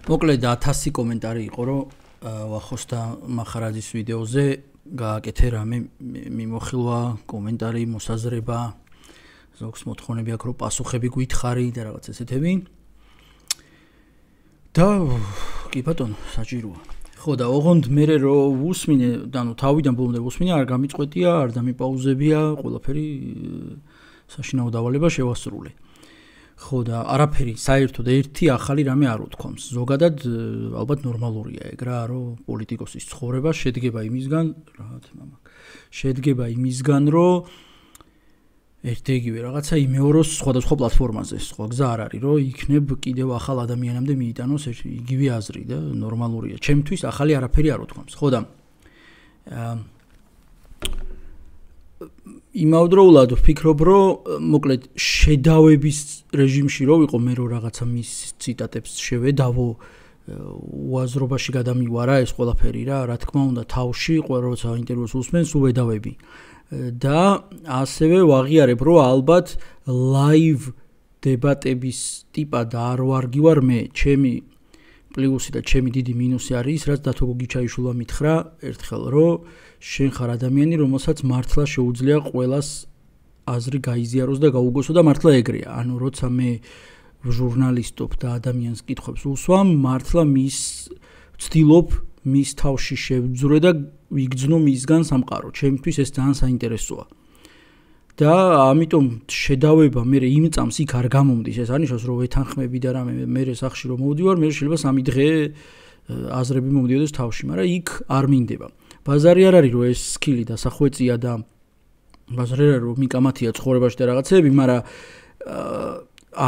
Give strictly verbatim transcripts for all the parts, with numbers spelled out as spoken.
მოკლედ ათასი კომენტარი იყო, რომ ვახოსთა მახარაძის ვიდეოზე გააკეთე რამე მიმოხილვა, კომენტარი, მოსაზრება, ზოგს მოთხოვნები აქვს, რომ პასუხები გითხარი და რაღაც ესეთები. და კი ბატონო, საჭიროა. ხო და ოღონდ მე რო უსმინე, ანუ თავიდან ბოლომდე უსმინე, არ გამიწყვეტია, არ დამიპაუზებია, ყველაფერი საშინაო დავალება შევასრულე. ხო და არაფერი საერთოდ ერთი ახალი რამე არ უთქვამს. ზოგადად ალბათ ნორმალურია ეგ რა, რომ პოლიტიკოსის ცხოვრება შედგება იმისგან, რა თქმა უნდა, შედგება იმისგან, რომ ერთ-იგივე რაღაცა იმეოროს სხვადასხვა პლატფორმაზე. სხვა გზა არ არის, რომ იქნებ კიდევ ახალ ადამიანამდე მიიტანოს იგივე აზრი და ნორმალურია. ჩემთვის ახალი არაფერი არ უთქვამს. ხო და იმავდროულად ვფიქრობ, რომ მოკლედ შედავების რეჟიმში რო ვიყო, მე რო რაღაცა მის ციტატებს შევედავო, უაზრობაში გადამივარა ეს ყველაფერი რა, რა თქმა უნდა, თავში ყველა როცა ინტერვიუს უსმენს, უდავები. და ასევე ვაღიარებ, რომ ალბათ ლაივ დებატების ტიპად არ ვარგივარ მე, ჩემი პლუსი და ჩემი დიდი მინუსი არის, რაც დათო გოგიჩაიშვილმა მითხრა ერთხელ, რომ შენ ხარ ადამიანი, რომელსაც მართლა შეუძლია ყველას აზრი გაიზიაროს და გაუგოსო და მართლა ეგრეა. ანუ როცა მე ჟურნალისტობ და ადამიანს კითხვებს უსვამ, მართლა მის ვცდილობ მის თავში შევძვრე და ვიგრძნო მისგან სამყარო. ჩემთვის ეს ძალიან საინტერესოა. და ამიტომ შედავება მე იმ წამს იქ არ გამომდის, ეს არნიშნავს, რომ ვეთანხმები და რამე მე სახში რომ მოვდივარ, მე შეიძლება სამი დღე აზრები მომდიოდეს თავში, მაგრამ იქ არ მინდება. ბაზარი არ არის, რომ ეს სკილი დასახვეწია და ბაზარი არ არის, რომ მიკამათია ცხოვრებაში და რაღაცეები, მაგრამ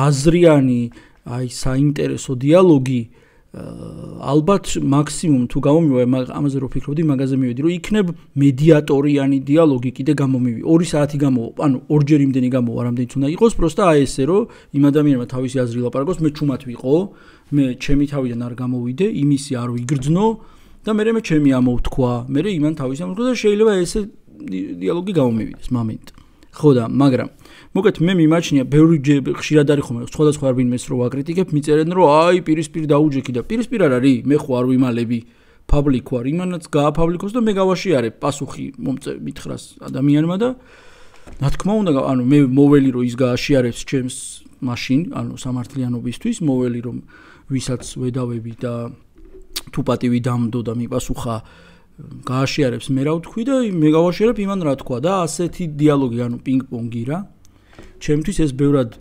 აზრიანი, აი საინტერესო დიალოგი ალბათ მაქსიმუმ თუ გამომივა, ამაზე რო ფიქრობდი, მაგაზე მივედი, რომ იქნებ მედიატორიანი დიალოგი კიდე გამომივი. ორი საათი გამოვა, ანუ ორჯერ იმდენი გამოვა, რამდენიც უნდა იყოს, პროსტა აი ესე, რომ იმ ადამიანმა თავისი აზრი ლაპარაკოს, მე ჩუმად ვიყო, მე ჩემი თავიდან არ გამოვიდე, იმისი არ ვიგრძნო და მე მე ჩემი ამოვთქვა, მე იმან თავისი ამოვთქვა და შეიძლება ესე დიალოგი გამომივიდეს მომენტ. ხო და მაგრამ მოგეთ მე მიმაჩნია ბევრი ხშირად არის ხომ სხვადასხვა რბინმეს რო ვაკრიტიკებ, მიწერენ რომ აი პირისპირ დაუჯექი და პირისპირ არ არის, მე ხო არ ვიმალები, პაბლიკ ვარ, იმანაც გააფაბლიკოს და მე გავაშიარებ პასუხი მომწე მითხრას ადამიანმა და რა თქმა უნდა, ანუ მე მოველი რომ ის გააშიარებს ჩემს მაშინ, ანუ სამართლიანობისთვის, მოველი რომ ვისაც ვედავები და თუ პატივი დამდო და მიპასუხა გააშიარებს მე რა ვთქვი და მე გავაშიარებ იმან რა თქვა და ასეთი დიალოგი, ანუ პინგ-პონგი რა. ჩემთვის ეს ბევრად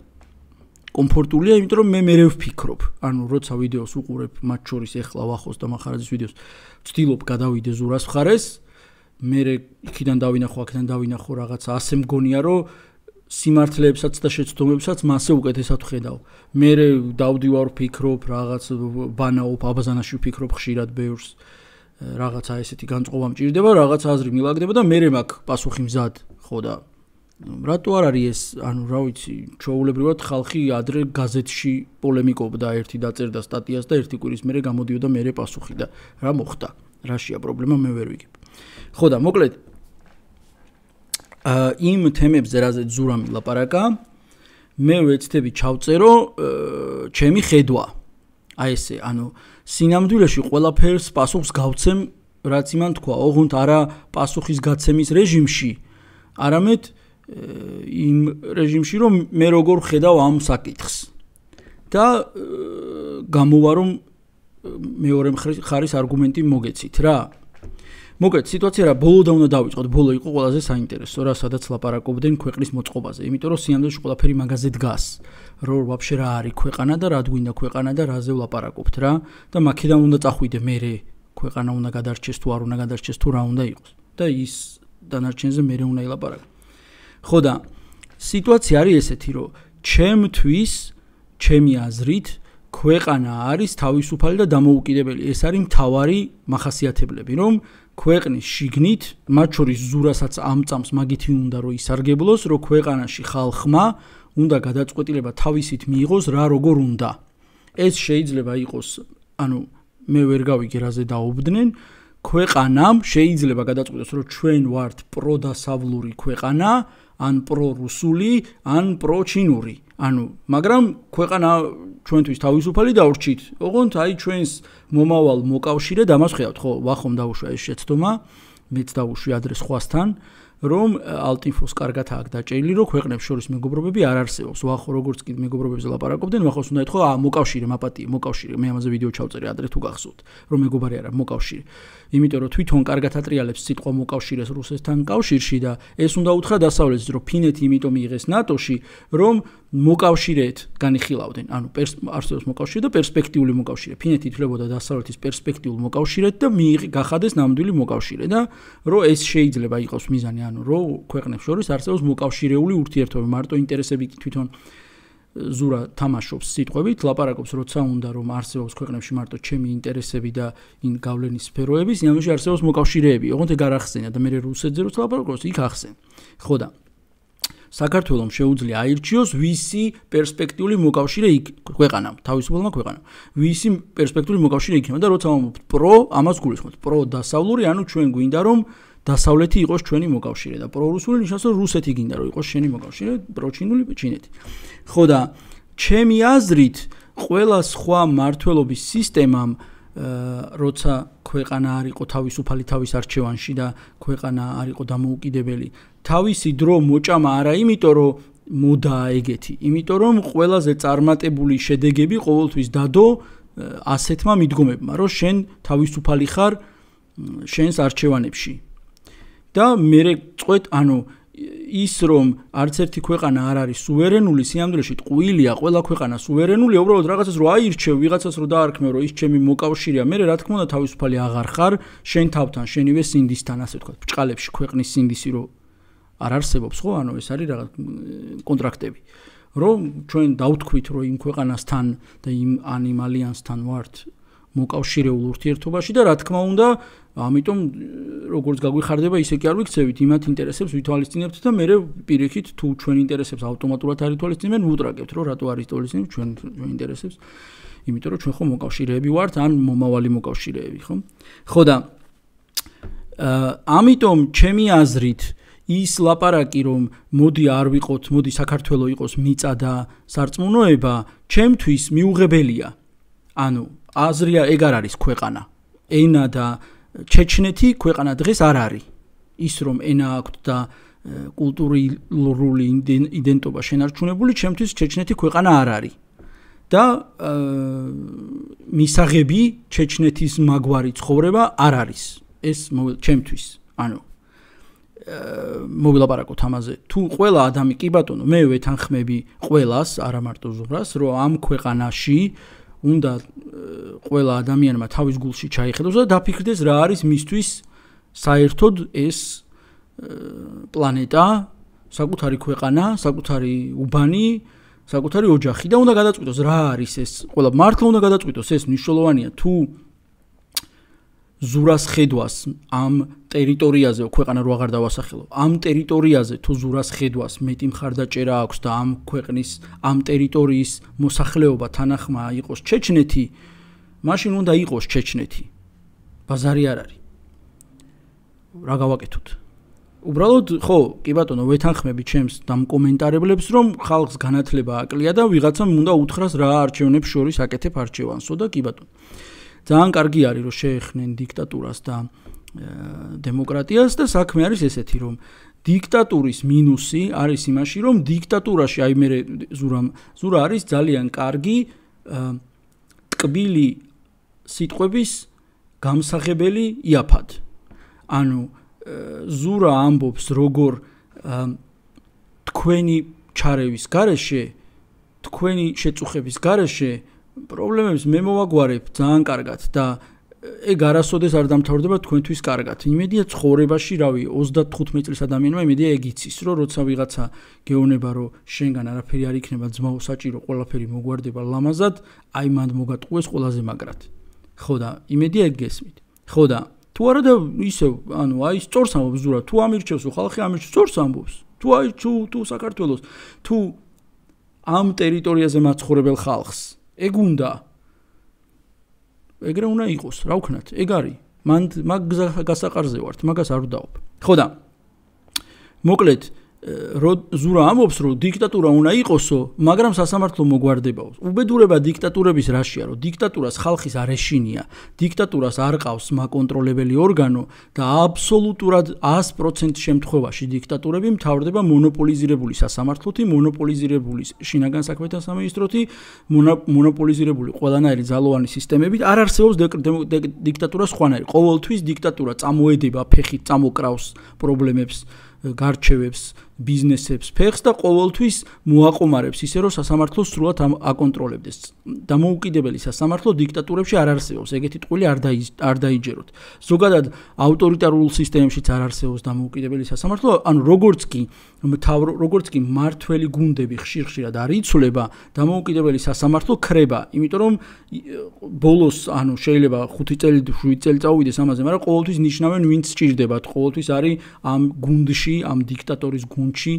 კომფორტულია, იმიტომ რომ მე მერე ვფიქრობ. ანუ როცა ვიდეოს უყურებ, მათ შორის ეხლა ვახოს და მახარაძის ვიდეოს, ვცდილობ გადავიდე ზურას მხარეს, მე იქიდან დავინახო, აქედან დავინახო რაღაცა, ასე მგონია, რომ სიმართლეებსაც და შეცდომებსაც მასე უკეთესად ვხედავ. მე დავდივარ ვფიქრობ, რაღაც ბანაობ, აბაზანაში ვფიქრობ ხშირად ბევრს. რაღაცა ესეთი განწყობა მჭირდება, რაღაცა აზრი მილაგდება და მე მაქვს პასუხი მზად, ხო და რატო არ არის ეს, ანუ რა ვიცი, ჩვეულებრივად ხალხი ადრე გაზეთში პოლემიკობდა, ერთი დაწერდა სტატიას და ერთი კვირის მერე გამოდიოდა მერე პასუხი და რა მოხდა? რაშია პრობლემა, მე ვერ ვიგებ. ხო და მოკლედ იმ თემებზე, რაზეც ზურამ ლაპარაკა, მე ვეცდები ჩავწერო ჩემი ხედვა. აი ესე, ანუ სინამდვილეში ყველაფერს პასუხს გავცემ, რაც იმან თქვა, ოღონდ არა პასუხის გაცემის რეჟიმში, არამედ იმ რეჟიმში, რომ მე როგორ ხედავ ამ საკითხს. და გამოვა რომ მეორე მხარის არგუმენტი მოგეცით რა. მოგეთ სიტუაცია რა, ბოლო და უნდა დავიწყოთ, ბოლო იყო ყველაზე საინტერესო რა, სადაც ლაპარაკობდნენ ქვეყნის მოწყობაზე, იმიტომ რომ სინამდვილეში ყველაფერი მაგაზე დგას, რომ ვაფშე რა არის ქვეყანა და რა გვინდა ქვეყანა და რაზე ვლაპარაკობთ რა და მაქედან უნდა წახვიდე მერე ქვეყანა უნდა გადარჩეს თუ არ უნდა გადარჩეს თუ რა უნდა იყოს და ის დანარჩენზე მერე უნდა ილაპარაკო. ხო და სიტუაცია არის ესეთი, რომ ჩემთვის, ჩემი აზრით, ქვეყანა არის თავისუფალი და დამოუკიდებელი. ეს არის მთავარი მახასიათებლები, რომ ქვეყნის შიგნით, მათ შორის ზურასაც ამ წამს მაგითი უნდა რომ ისარგებლოს, რომ ქვეყანაში ხალხმა უნდა გადაწყვეტილება თავისით მიიღოს რა როგორ უნდა. ეს შეიძლება იყოს, ანუ მე ვერ გავიგე რაზე დაობდნენ, ქვეყანამ შეიძლება გადაწყვეტოს, რომ ჩვენ ვართ პროდასავლური ქვეყანა, ან პრო-რუსული, ან პრო-ჩინური. ანუ მაგრამ ქვეყანა ჩვენთვის თავისუფალი დავრჩით. ოღონდ აი ჩვენს მომავალ მოკავშირედ ამას ხედავთ, ხო, ვახომ დაუშვა ეს შეცდომა, მეც დავუშვი ადრე სხვასთან, რომ ალტინფოს კარგად აქვს დაჭერილი, რომ ქვეყნებს შორის მეგობრობები არ არსებობს. ვახო როგორც კი მეგობრობებზე ლაპარაკობდნენ, ვახოს უნდა ეთქვა, აა მოკავშირე, მაპატიე, მოკავშირე. მე ამაზე ვიდეო ჩავწერე ადრე თუ გახსოვთ, რომ მეგობარი არა, მოკავშირე. იმიტომ რომ თვითონ კარგად ატრიალებს სიტყვა მოკავშირეს რუსეთთან კავშირში და ეს უნდა უთხრა დასავლეთს, რომ ფინეთი იმიტომ მიიღეს ნატოში, რომ მოკავშირეეთ განიხილავდნენ. ანუ არსებობს მოკავშირე და პერსპექტიული მოკავშირე. ფინეთი ითვლებოდა დასავლეთის პერსპექტიულ მოკავშირედ და მიიღი გახადეს ნამდვილი მოკავშირე და რომ ეს შეიძლება იყოს მიზანი, ანუ რომ ქვეყნებს შორის არსებობს მოკავშირეული ურთიერთობა, მარტო ინტერესები თვითონ ზურა თამაშობს სიტყვებით, ლაპარაკობს, როცა უნდა რომ არსებობს ქვეყნებში მარტო ჩემი ინტერესები და ინ გავლენის სფეროების, იმაში არსებობს მოკავშირეები. ოღონდ ეგ არ ახსენა და მე რუსეთზე როცა ლაპარაკობს, იქ ახსენ. ხო და საქართველოს შეუძლია აირჩიოს ვისი პერსპექტიული მოკავშირე იქ ქვეყანა, თავისუფალმა ქვეყანამ. ვისი პერსპექტიული მოკავშირე იქნება და როცა ვამბობთ პრო, ამას გულისხმობთ. პრო დასავლური, ანუ ჩვენ გვინდა რომ დასავლეთი იყოს ჩვენი მოკავშირე და პრორუსული ნიშნავს რომ რუსეთი გინდა რომ იყოს შენი მოკავშირე, პროჩინული ჩინეთი. ხო და ჩემი აზრით, ყველა სხვა მართლობის სისტემამ როცა ქვეყანა არ იყო თავისუფალი თავის არჩევანში და ქვეყანა არ იყო დამოუკიდებელი, თავისი დრო მოჭამა არა იმიტომ რომ მოდაა ეგეთი, იმიტომ რომ ყველაზე წარმატებული შედეგები ყოველთვის დადო ასეთმა მიდგომებმა, რომ შენ თავისუფალი ხარ შენს არჩევანებში. და მე წყვეთ, ანუ ის რომ არც ერთი ქვეყანა არ არის სუვერენული, სიამდვილეში ტყუილია, ყველა ქვეყანა სუვერენულია, უბრალოდ რაღაცას რომ აირჩევ, ვიღაცას რომ დაარქმევ, რომ ის ჩემი მოკავშირეა, მე რა თქმა უნდა თავისუფალი აღარ ხარ, შენ თავთან, შენივე სინდისთან, ასე ვთქვათ, ბჭყალებში ქვეყნის სინდისი რომ არ არსებობს, ხო? ანუ ეს არის რაღაც კონტრაქტები. რომ ჩვენ დავთქვით, რომ იმ ქვეყანასთან და იმ ან იმ ალიანსთან ვართ მოკავშირეულ ურთიერთობაში და რა თქმა უნდა, ამიტომ როგორც გაგვიხარდება, ისე კი არ ვიქცევით, იმათ ინტერესებს ვითვალისწინებთ და მე პირიქით თუ ჩვენ ინტერესებს ავტომატურად არ ითვალისწინებენ, ვუტრაგებთ, რომ რატო არის ითვალისწინებთ ჩვენ ჩვენ ინტერესებს. იმიტომ რომ ჩვენ ხო მოკავშირეები ვართ, ან მომავალი მოკავშირეები, ხო? ხო და ამიტომ ჩემი აზრით ის ლაპარაკი რომ მოდი არ ვიყოთ, მოდი საქართველოს იყოს მიწა და სარწმუნოება, ჩემთვის მიუღებელია. ანუ აზრია ეგ არ არის ქვეყანა. ენა და ჩეჩნეთი ქვეყანა დღეს არ არის. ის რომ ენა აქვთ და კულტურული იდენტობა შენარჩუნებული, ჩემთვის ჩეჩნეთი ქვეყანა არ არის. და მისაღები ჩეჩნეთის მაგვარი ცხოვრება არ არის. ეს ჩემთვის, ანუ მოვილაპარაკოთ ამაზე. თუ ყველა ადამი კი ბატონო, მე ვეთანხმები ყველას, არა მარტო ზურას, რომ ამ ქვეყანაში უნდა ყველა ადამიანმა თავის გულში ჩაიხედოს და დაფიქრდეს რა არის მისთვის საერთოდ ეს პლანეტა, საკუთარი ქვეყანა, საკუთარი უბანი, საკუთარი ოჯახი და უნდა გადაწყვიტოს რა არის ეს. ყველა მართლა უნდა გადაწყვიტოს, ეს მნიშვნელოვანია თუ ზურას ხედვას ამ ტერიტორიაზე, ქვეყანა რო აღარ დავასახელო, ამ ტერიტორიაზე თუ ზურას ხედვას მეტი მხარდაჭერა აქვს და ამ ქვეყნის, ამ ტერიტორიის მოსახლეობა თანახმა იყოს ჩეჩნეთი, მაშინ უნდა იყოს ჩეჩნეთი. ბაზარი არ არის. რა გავაკეთოთ? უბრალოდ, ხო, კი ბატონო, ვეთანხმები ჩემს დამკომენტარებლებს, რომ ხალხს განათლება აკლია და ვიღაცამ უნდა უთხრას რა არჩევნებს შორის აკეთებ არჩევანსო და კი ბატონო. ძალიან კარგი არის რომ შეეხნენ დიქტატურას და დემოკრატიას და საქმე არის ესეთი რომ დიქტატურის მინუსი არის იმაში რომ დიქტატურაში აი მე ზურამ ზურა არის ძალიან კარგი ტკბილი სიტყვების გამსახებელი იაფად. ანუ ზურა ამბობს როგორ თქვენი ჩარევის გარეშე, თქვენი შეწუხების გარეშე პრობლემებს მე მოვაგვარებ ძალიან კარგად და ეგ არასოდეს არ დამთავრდება თქვენთვის კარგად. იმედია ცხოვრებაში, რავი, ოცდათხუთმეტი წლის ადამიანმა იმედია ეგ იცის, რომ როცა ვიღაცა გეუბნება, რომ შენგან არაფერი არ იქნება, ძმაო, საჭირო, ყველაფერი მოგვარდება ლამაზად, აი მანდ მოგატყუეს ყველაზე მაგრად. ხო და იმედია ეგ გესმით. ხო და თუ არა და ისევ, ანუ აი სწორს ამბობს ზურა, თუ ამირჩევს ხალხი ამირჩევს, სწორს ამბობს. თუ აი თუ თუ საქართველოს, თუ ამ ტერიტორიაზე მაცხოვრებელ ხალხს ეგ უნდა ეგრე უნდა იყოს, რა ვქნათ, ეგ არის. მან მაგ გასაყარზე ვართ, მაგას არ ვდაობ. ხო და მოკლედ ზურა ამბობს, რომ დიქტატურა უნდა იყოსო, მაგრამ სასამართლო მოგვარდებაო. უბედურება დიქტატურების რაშია, რომ დიქტატურას ხალხის არ ეშინია, დიქტატურას არ ყავს მაკონტროლებელი ორგანო და აბსოლუტურად ას პროცენტ შემთხვევაში დიქტატურები მთავრდება მონოპოლიზირებული სასამართლოთი, მონოპოლიზირებული შინაგან საქმეთა სამინისტროთი, მონოპოლიზირებული ყველანაირი ძალოვანი სისტემებით. არ არსებობს დიქტატურა სხვანაირი. ყოველთვის დიქტატურა წამოედება ფეხით, წამოკრავს პრობლემებს, გარჩევებს, ბიზნესებს, ფეხს და ყოველთვის მოაყომარებს ისე რომ სასამართლო სრულად აკონტროლებდეს. დამოუკიდებელი სასამართლო დიქტატურებში არ არსებობს. ეგეთი ტყუილი არ არ დაიჯეროთ. ზოგადად ავტორიტარულ სისტემებშიც არ არსებობს დამოუკიდებელი სასამართლო, ანუ როგორც კი მთავრო როგორც კი მართველი გუნდები ხშირ-ხშირად არ იცვლება, დამოუკიდებელი სასამართლო ქრება, იმიტომ რომ ბოლოს, ანუ შეიძლება ხუთი წელი, შვიდი წელი წავიდეს ამაზე, მაგრამ ყოველთვის ნიშნავენ ვინც სჭირდებათ, ყოველთვის არის ამ გუნდში, ამ დიქტატორის გუნდში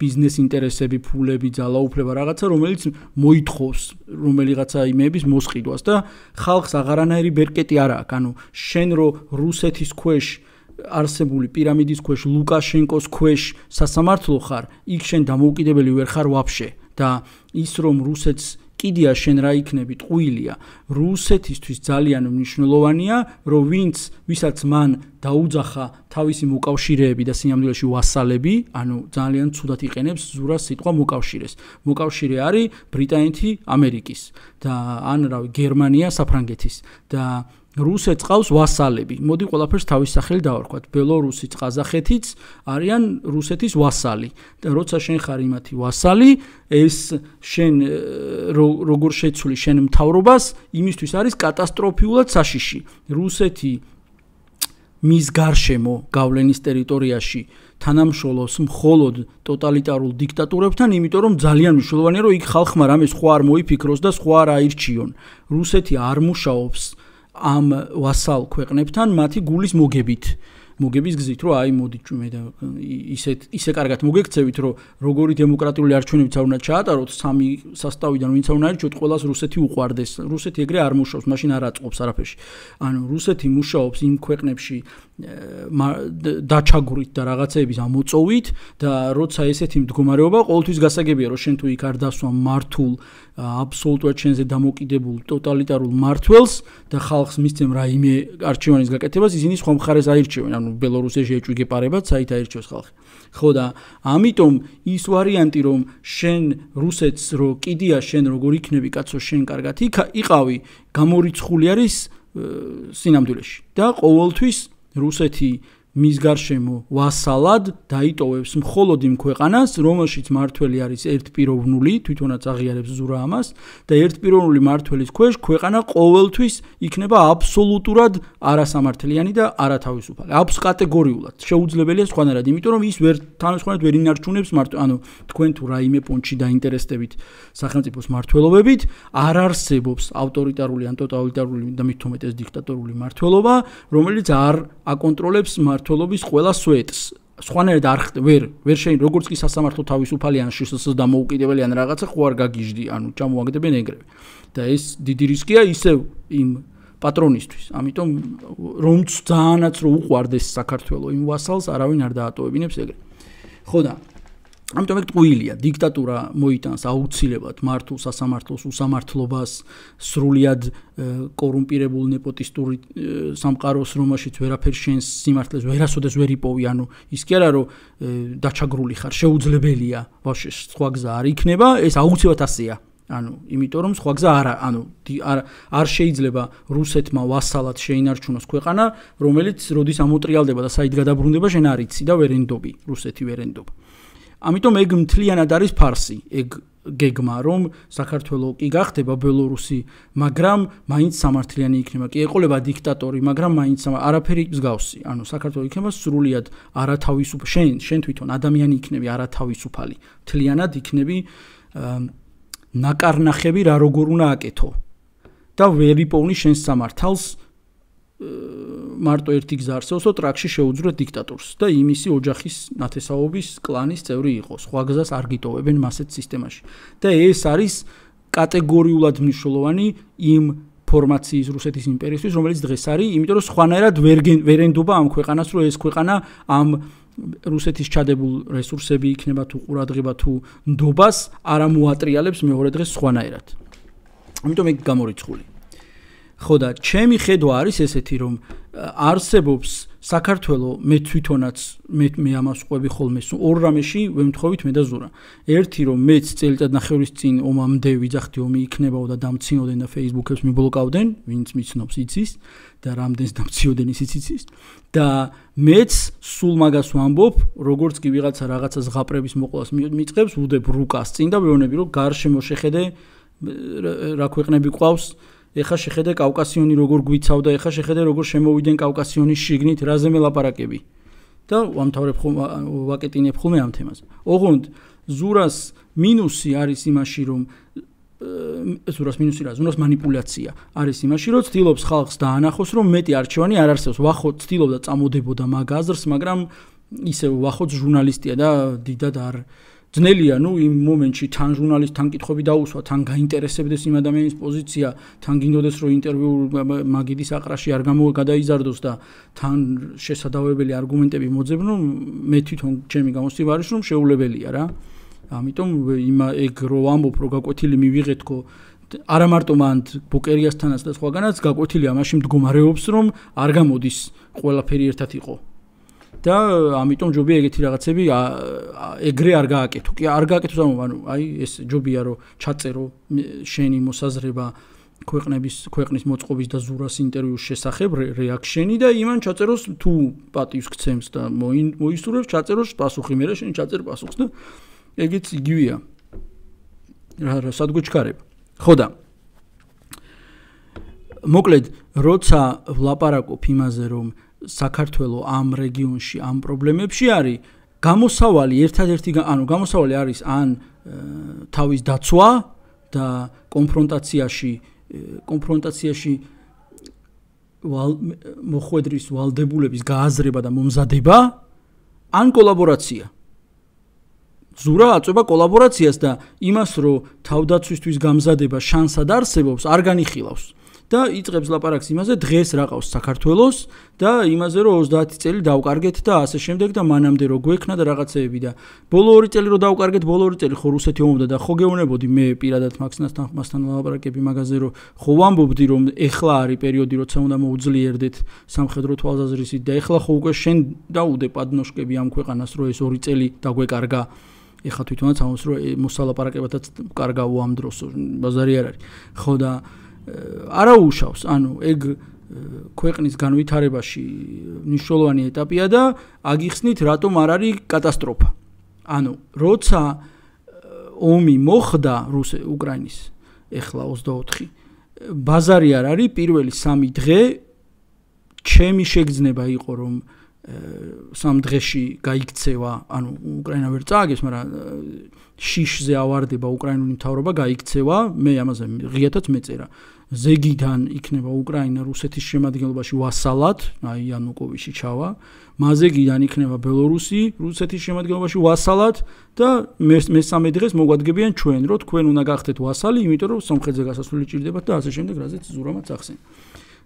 ბიზნეს ინტერესები, ფულები, ძალაუფლება რაღაცა, რომელიც მოითხოვს რომელიღაცა იმების მოსყიდვას და ხალხს აღარანაირი ბერკეტი არ აქვს. ანუ შენ რო რუსეთის ქვეშ არსებული პირამიდის ქვეშ, ლუკაშენკოს ქვეშ სასამართლო ხარ, იქ შენ დამოუკიდებელი ვერ ხარ ვაფშე და ის რომ რუსეთს კიდია შენ რა იქნები ტყუილია. რუსეთისთვის ძალიან მნიშვნელოვანია, რომ ვინც ვისაც მან დაუძახა თავისი მოკავშირეები და სინამდვილეში ვასალები, ანუ ძალიან ცუდად იყენებს ზურას სიტყვა მოკავშირეს. მოკავშირე არის ბრიტანეთი ამერიკის და ან რავი გერმანია საფრანგეთის და რუსეთს ყავს ვასალები. მოდი ყველაფერს თავის სახელი დავარქვათ. ბელორუსიც, ყაზახეთიც არიან რუსეთის ვასალი. და როცა შენ ხარ იმათი ვასალი, ეს შენ როგორ შეცვლი შენ მთავრობას, იმისთვის არის კატასტროფიულად საშიში. რუსეთი მის გარშემო გავლენის ტერიტორიაში თანამშრომლობს მხოლოდ ტოტალიტარულ დიქტატურებთან, იმიტომ რომ ძალიან მნიშვნელოვანია, რომ იქ ხალხმა რამე სხვა არ მოიფიქროს და სხვა არ აირჩიონ. რუსეთი არ მუშაობს ამ ვასალ ქვეყნებთან მათი გულის მოგებით. მოგების გზით, რომ აი მოდი ჩვენ და ისეთ ისე კარგად მოგექცევით, რომ როგორი დემოკრატიული არჩევნებიც არ უნდა ჩაატაროთ, სამი სასტავიდან ვინც არ უნდა არჩიოთ, ყველას რუსეთი უყვარდეს. რუსეთი ეგრე არ მუშაობს, მაშინ არ აწყობს არაფერში. ანუ რუსეთი მუშაობს იმ ქვეყნებში დაჩაგვრით და რაღაცეების ამოწოვით და როცა ესეთი მდგომარეობა ყოველთვის გასაგებია, რომ შენ თუ იქ არ დასვა მართულ აბსოლუტურად შენზე დამოკიდებულ ტოტალიტარულ მართველს და ხალხს მისცემ რაიმე არჩევანის გაკეთებას, ისინი სხვა მხარეს აირჩევენ. ანუ ბელორუსიაში ეჭვი გეპარებათ, საით აირჩევს ხალხი. ხო და ამიტომ ის ვარიანტი, რომ შენ რუსეთს რო კიდია შენ როგორ იქნები კაცო შენ კარგად იყავი, გამორიცხული არის სინამდვილეში. და ყოველთვის რუსეთი მის გარშემო ვასალად დაიტოვებს მხოლოდ იმ ქვეყანას, რომელშიც მართველი არის ერთპიროვნული, თვითონაც აღიარებს ზურა ამას და ერთპიროვნული მმართველის ქვეშ ქვეყანა ყოველთვის იქნება აბსოლუტურად არასამართლიანი და არათავისუფალი. აბს კატეგორიულად შეუძლებელია სხვანაირად, იმიტომ რომ ის ვერ თანხმოვნად ვერ ინარჩუნებს მარტო, ანუ თქვენ თუ რაიმე პონჩი დაინტერესდებით სახელმწიფოს მმართველობებით, არ არსებობს ავტორიტარული ან ტოტალიტარული და მით უმეტეს დიქტატორული მმართველობა, რომელიც არ აკონტროლებს მმართველობის ყველა სვეტს. სხვანაირად არ ვერ ვერ შეინ როგორც კი სასამართლო თავისუფალი ან შსს დამოუკიდებელი ან რაღაცა ხო არ გაგიჟდი, ანუ ჩამოაგდებენ ეგრევე. და ეს დიდი რისკია ისევ იმ პატრონისთვის. ამიტომ რომც ძალიანაც რო უყვარდეს საქართველოს იმ ვასალს, არავინ არ დაატოვებინებს ეგრე. ხო და ამიტომ ეგ ტყუილია, დიქტატურა მოიტანს აუცილებლად მართულ სასამართლოს უსამართლობას, სრულიად კორუმპირებულ ნეპოტისტური სამყაროს, რომელშიც ვერაფერ შენს სიმართლეს ვერასოდეს ვერ იპოვი, ანუ ის კი არა რომ დაჩაგრული ხარ, შეუძლებელია, ვაფშე სხვა გზა არ იქნება, ეს აუცილებლად ასეა. ანუ იმიტომ რომ სხვა გზა არა, ანუ არ არ შეიძლება რუსეთმა ვასალად შეინარჩუნოს ქვეყანა, რომელიც როდის ამოტრიალდება და საით გადაბრუნდება, შენ არ იცი და ვერ ენდობი, რუსეთი ვერ ენდობა. ამიტომ ეგ მთლიანად არის ფარსი, ეგ გეგმა, რომ საქართველოს კი გახდება ბელორუსი, მაგრამ მაინც სამართლიანი იქნება. კი ეყოლება დიქტატორი, მაგრამ მაინც არაფერი მსგავსი. ანუ საქართველოს იქნება სრულიად არათავისუფალი, შენ შენ თვითონ ადამიანი იქნები არათავისუფალი. მთლიანად იქნები ნაკარნახები რა როგორ უნდა აკეთო. და ვერ იპოვნი შენს სამართალს მარტო ერთი გზა არსებობს, რომ ტრაქში შეუძვრეთ დიქტატორს და იმისი ოჯახის ნათესაობის კლანის წევრი იყოს. სხვა გზას არ გიტოვებენ მასეთ სისტემაში. და ეს არის კატეგორიულად მნიშვნელოვანი იმ ფორმაციის რუსეთის იმპერიისთვის, რომელიც დღეს არის, იმიტომ რომ სხვანაირად ვერ ვერ ენდობა ამ ქვეყანას, რომ ეს ქვეყანა ამ რუსეთის ჩადებულ რესურსები იქნება თუ ყურადღება თუ ნდობას არ ამოატრიალებს მეორე დღეს სხვანაირად. ამიტომ ეგ გამორიცხული. ხო და ჩემი ხედვა არის ესეთი რომ არსებობს საქართველოს მე თვითონაც მე მე ამას ყვები ხოლმე ორ რამეში ვემთხოვით მე და ზურა. ერთი რომ მეც წელიწად ნახევრის წინ ომამდე ვიძახდი ომი იქნებაო და დამცინოდნენ და Facebook-ებს მიბლოკავდნენ, ვინც მიცნობს იცის და რამდენს დამციოდენ ისიც იცის და მეც სულ მაგას ვამბობ, როგორც კი ვიღაცა რაღაცა ზღაპრების მოყვლას მიწყებს, ვუდებ რუკას წინ და ვეუბნები რომ გარშემო შეხედე რა ქვეყნები ყავს ეხა შეხედე კავკასიონი როგორ გვიცავდა, ეხა შეხედე როგორ შემოვიდნენ კავკასიონის შიგნით, რაზე მელაპარაკები. და ვამთავრებ ხოლმე ვაკეტინებ ხოლმე ამ თემაზე. ოღონდ ზურას მინუსი არის იმაში, რომ ზურას მინუსი რა, ზურას манипуляция არის იმაში, რომ ცდილობს ხალხს დაანახოს, რომ მეტი არჩევანი არ არსებობს. ვახო ცდილობდა წამოდებოდა მაგ აზრს, მაგრამ ისე ვახოც ჟურნალისტია და დიდად არ ძნელია, ნუ იმ მომენტში თან ჟურნალისტთან კითხვები დაუსვა, თან გაინტერესებდეს იმ ადამიანის პოზიცია, თან გინდოდეს რომ ინტერვიუ მაგიდის აყრაში არ გამოგადაიზარდოს და თან შესაძლებელი არგუმენტები მოძებნო, მე თვითონ ჩემი გამოცდილება არის რომ შეუძლებელია რა. ამიტომ იმ ეგ რო ამბობ რომ გაკვეთილი მივიღეთქო არა მარტო მან ბუკერიასთანაც და სხვაგანაც გაკვეთილი ამაში მდგომარეობს რომ არ გამოდის ყველაფერი ერთად იყო. და ამიტომ ჯობია ეგეთი რაღაცები ეგრე არ გააკეთო. კი არ გააკეთოს ანუ აი ეს ჯობია რომ ჩაწერო შენი მოსაზრება ქვეყნების ქვეყნის მოწყობის და ზურას ინტერვიუს შესახებ რეაქშენი და იმან ჩაწეროს თუ პატივს გცემს და მოისურვებს ჩაწეროს პასუხი მე რა შენ ჩაწერ პასუხს და ეგეც იგივეა. რა რა სადგუჩქარება. ხო და მოკლედ როცა ვლაპარაკობ იმაზე რომ საქართველოს ამ რეგიონში ამ პრობლემებში არის გამოსავალი ერთადერთი ანუ გამოსავალი არის ან თავის დაცვა და კონფრონტაციაში კონფრონტაციაში მოხვედრის ვალდებულების გააზრება და მომზადება ან კოლაბორაცია. ზურა აწובה კოლაბორაციას და იმას რომ თავდაცვისთვის გამზადება შანსად არსებობს არ განიხილავს. და იწყებს ლაპარაკს იმაზე დღეს რა ყავს საქართველოს და იმაზე რომ ოცდაათი წელი დავკარგეთ და ასე შემდეგ და მანამდე რო გვექნა და რაღაცეები და ბოლო ორი წელი რო დავკარგეთ ბოლო ორი წელი ხო რუსეთი ომობდა და ხო გეუბნებოდი მე პირადად მაქსნასთან მასთან ლაპარაკები მაგაზე რომ ხო ვამბობდი რომ ეხლა არის პერიოდი როცა უნდა მოუძლიერდეთ სამხედრო თვალსაზრისით და ეხლა ხო უკვე შენ დაუდე პადნოშკები ამ ქვეყანას რომ ეს ორი წელი დაგვეკარგა ეხლა თვითონაც ამას რომ მოსალაპარაკებათაც კარგავო ამ დროს ბაზარი არ არის ხო და არა უშავს, ანუ ეგ ქვეყნის განვითარებაში მნიშვნელოვანი ეტაპია და აგიხსნით რატომ არ არის კატასტროფა. ანუ როცა ომი მოხდა რუსე უკრაინის ეხლა ოცდაოთხი ბაზარი არ არის პირველი სამი დღე ჩემი შეგრძნება იყო რომ სამ დღეში გაიქცევა, ანუ უკრაინა ვერ წააგებს, მაგრამ შიშზე ავარდება უკრაინული მთავრობა გაიქცევა, მე ამაზე ღიათაც მეწერა. ზეგიდან იქნება უკრაინა რუსეთის შემადგენლობაში ვასალად, აი იანუკოვიჩი ჩავა, მაზეგიდან იქნება ბელორუსი რუსეთის შემადგენლობაში ვასალად და მესამე დღეს მოგვადგებიან ჩვენ, რომ თქვენ უნდა გახდეთ ვასალი, იმიტომ რომ სომხეთზე გასასვლელი ჭირდებათ და ასე შემდეგ, რაზეც ზურამაც ახსენე.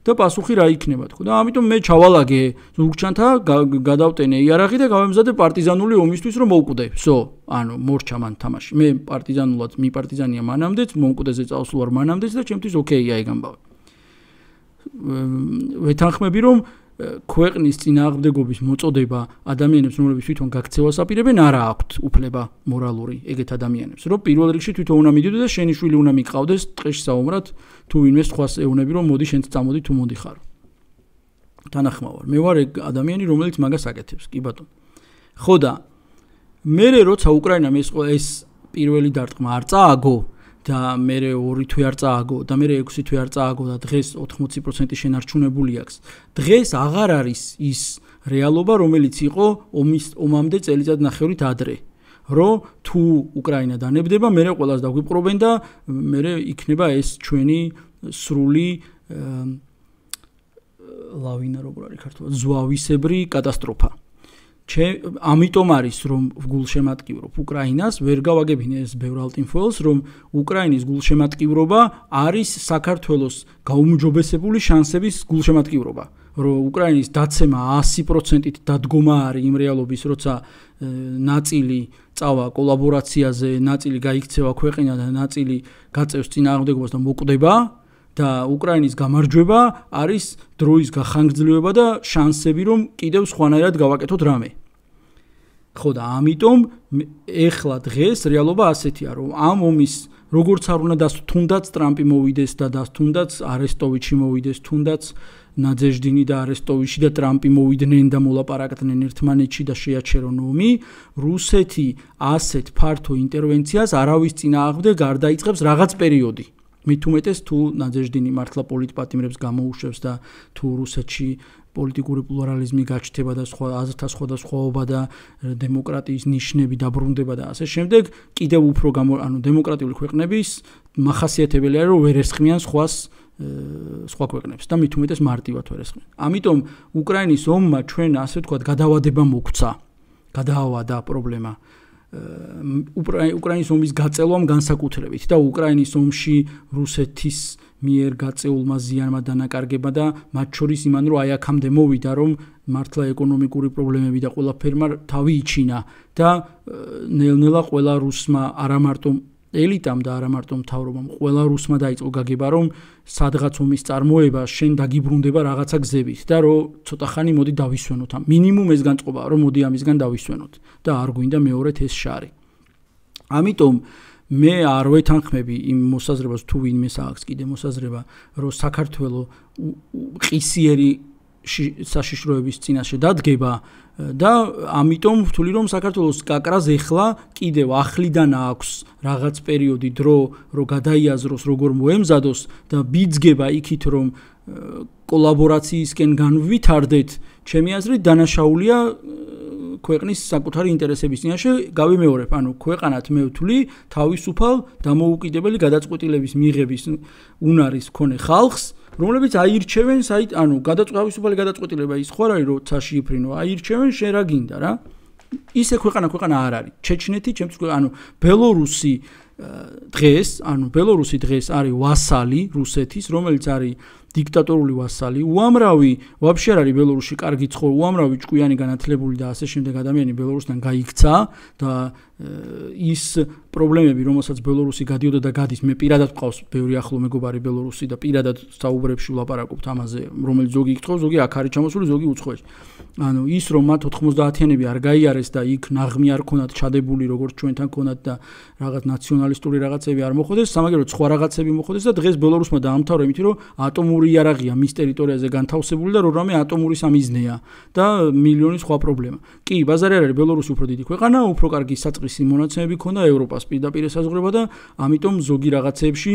და პასუხი რა იქნება თქო და ამიტომ მე ჩავალაგე ზურგჩანთა გადავტენე იარაღი და გავემზადე პარტიზანული ომისთვის რომ მოვკვდე. ვსო, ანუ მორჩა მან თამაში. მე პარტიზანულად მიპარტიზანია მანამდეც, მომკვდეზე წავსულ ვარ მანამდეც და ჩემთვის ოკეია ეგ ამბავი. ვეთანხმები რომ ქვეყნის წინააღმდეგობის მოწოდება ადამიანებს, რომლებიც თვითონ გაქცევას აპირებენ, არა აქვთ უფლება მორალური ეგეთ ადამიანებს. რომ პირველ რიგში თვითონ უნდა მიდიოდე და შენი შვილი უნდა მიყავდეს ტყეში საომრად, თუ ვინმე სხვას ეუნები რომ მოდი შენც წამოდი თუ მოდიხარო. თანახმა ვარ. მე ვარ ეგ ადამიანი, რომელიც მაგას აკეთებს, კი ბატონო. ხო და მე როცა უკრაინამ ეს ეს პირველი დარტყმა არ წააგო და მე ორი თვე არ წააგო და მე ექვსი თვე არ წააგო და დღეს ოთხმოცი პროცენტი შენარჩუნებული აქვს. დღეს აღარ არის ის რეალობა, რომელიც იყო ომის ომამდე წელიწად ნახევრით ადრე. რომ თუ უკრაინა დანებდება, მე ყველას დაგვიპყრობენ და მე იქნება ეს ჩვენი სრული ლავინა როგორ არის ქართულად ზვავისებრი კატასტროფა. ამიტომ არის რომ გულშემატკივრობ უკრაინას, ვერ გავაგებინე ეს ბევრ ალტინფოელს, რომ უკრაინის გულშემატკივრობა არის საქართველოს გაუმჯობესებული შანსების გულშემატკივრობა. რომ უკრაინის დაცემა ათი პროცენტით დადგომა არის იმ რეალობის, როცა ნაწილი წავა კოლაბორაციაზე, ნაწილი გაიქცევა ქვეყანა და ნაწილი გაწევს წინააღმდეგობას და მოკვდება და უკრაინის გამარჯვება არის დროის გახანგრძლივება და შანსები, რომ კიდევ სხვანაირად გავაკეთოთ რამე. ხო და ამიტომ ეხლა დღეს რეალობა ასეთია, რომ ამ ომის როგორც არ უნდა დასტ თუნდაც ტრამპი მოვიდეს და დასტ თუნდაც არესტოვიჩი მოვიდეს, თუნდაც ნაძეჟდინი და არესტოვიჩი და ტრამპი მოვიდნენ და მოლაპარაკდნენ ერთმანეთში და შეაჩერონ ომი, რუსეთი ასეთ ფართო ინტერვენციას არავის წინააღმდეგ არ დაიწყებს რაღაც პერიოდი. მით უმეტეს თუ ნაძეჟდინი მართლა პოლიტპატიმრებს გამოუშვებს და თუ რუსეთში პოლიტიკური პლურალიზმი გაჩნდება და სხვა აზრთა სხვადასხვაობა და დემოკრატიის ნიშნები დაბრუნდება და ასე შემდეგ, კიდევ უფრო ანუ დემოკრატიული ქვეყნების მახასიათებელია, რომ ვერ ესხმიან სხვას სხვა ქვეყნებს და მით უმეტეს მარტივად ვერ ესხმიან. ამიტომ უკრაინის ომმა ჩვენ ასე ვთქვათ გადავადება მოგვცა, გადაავადა პრობლემა უკრაინის ომის გაწელვამ განსაკუთრებით და უკრაინის ომში რუსეთის მიერ გაწეულმა ზიანმა დანაკარგება და მათ შორის იმან რომ აი აქამდე მოვიდა რომ მართლა ეკონომიკური პრობლემები და ყველაფერმა თავი იჩინა და ნელ-ნელა ყველა რუსმა არა მარტო ელიტამ და არა მარტო მთავრობამ ყველა რუსმა დაიწყო გაგება რომ სადღაც ომის წარმოება შენ დაგიბრუნდება რაღაცა გზებით და რომ ცოტა ხანი მოდი დავისვენოთ ამ მინიმუმ ეს განწყობაა რომ მოდი ამისგან დავისვენოთ და არ გვინდა მეორედ ეს შარი. ამიტომ მე არ ვეთანხმები იმ მოსაზრებას თუ ვინმეს აქვს კიდე მოსაზრება რომ საქართველო ყისიერი საშიშროების წინაშე დადგება და ამიტომ ვთვლი რომ საქართველოს კაკრას ეხლა კიდევ ახლიდან აქვს რაღაც პერიოდი დრო რომ გადაიაზროს როგორ მოემზადოს და ბიძგება იქით რომ კოლაბორაციისკენ განვითარდეთ ჩემი აზრით დანაშაულია ქვეყნის საკუთარი ინტერესების წინაშე გავიმეორებ, ანუ ქვეყანათ მე ვთვლი თავისუფალ დამოუკიდებელი გადაწყვეტილების მიღების უნარის მქონე ხალხს, რომლებიც აირჩევენ საით, ანუ თავისუფალი გადაწყვეტილება ის ხო არ არის, რომ ცაში იფრინო, აირჩევენ შენ რა გინდა რა. ისე ქვეყანა ქვეყანა არ არის. ჩეჩნეთი, ჩემთვის ანუ ბელორუსი დღეს, ანუ ბელორუსი დღეს არის ვასალი რუსეთის, რომელიც არის დიქტატორული ვასალი, უამრავი ვაფშე არ არის ბელორუსში კარგი ცხოვრ, უამრავი ჭკვიანი განათლებული და ასე შემდეგ ადამიანი ბელორუსიდან გაიქცა და ის პრობლემები, რომელსაც ბელორუსი გადიოდა და გადის, მე პირადად მყავს ბევრი ახლო მეგობარი ბელორუსი და პირადად საუბრებში ვლაპარაკობთ ამაზე, რომელიც ზოგი იკითხავს, ზოგი აქ არის ჩამოსული, ზოგი უცხოეთში. ანუ ის რომ მათ ოთხმოცდაათიანები არ გაიარეს და იქ ნაღმი არ ქონათ ჩადებული, როგორც ჩვენთან ქონათ და რაღაც ნაციონალისტური რაღაცები არ მოხდეს, სამაგერო სხვა რაღაცები მოხდეს და დღეს ბელორუსმა დაამთავრა იმით, რომ ატომური იარაღია მის ტერიტორიაზე განთავსებული და რომ რამე ატომური სამიზნეა და მილიონი სხვა პრობლემა. კი, ბაზარი არ არის, ბელორუსი უფრო დიდი ქვეყანა, უფრო კარგი საწყისი მონაცემები ქონდა ევროპას პირდაპირ ესაზღვრება და ამიტომ ზოგი რაღაცეებში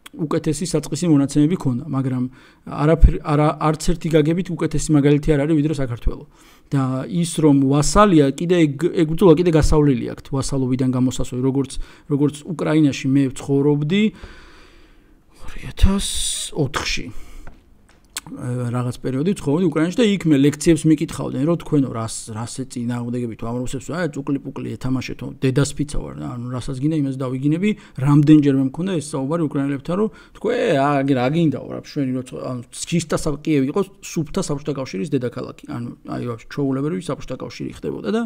უკეთესი საწყისი მონაცემები ქონდა, მაგრამ არაფერი არა არც ერთი გაგებით უკეთესი მაგალითი არ არის ვიდრე საქართველო. და ის რომ ვასალია, კიდე ეგ ბრძოლა კიდე გასავლელი აქვს ვასალობიდან გამოსასვლელი, როგორც როგორც უკრაინაში მე ვცხოვრობდი ორი ათას ოთხში. რაღაც პერიოდი ცხოვრობდი უკრაინაში და იქ მე ლექციებს მიკითხავდნენ, რომ თქვენო რას რას ეწინააღმდეგებით ამ რუსებს, აი წუკლი-პუკლი ეთამაშეთო, დედასფიცა ვარ, ანუ რასაც გინდა იმას დავიგინები, რამდენჯერმე მქონდა ეს საუბარი უკრაინელებთან, რომ თქვენ აი რა გინდაო რა შვენი რო ანუ ჩისტა კიევი იყოს სუფთა საბჭოთა კავშირის დედაქალაქი, ანუ აი ვაფშე ჩაულებრივი საბჭოთა კავშირი ხდებოდა და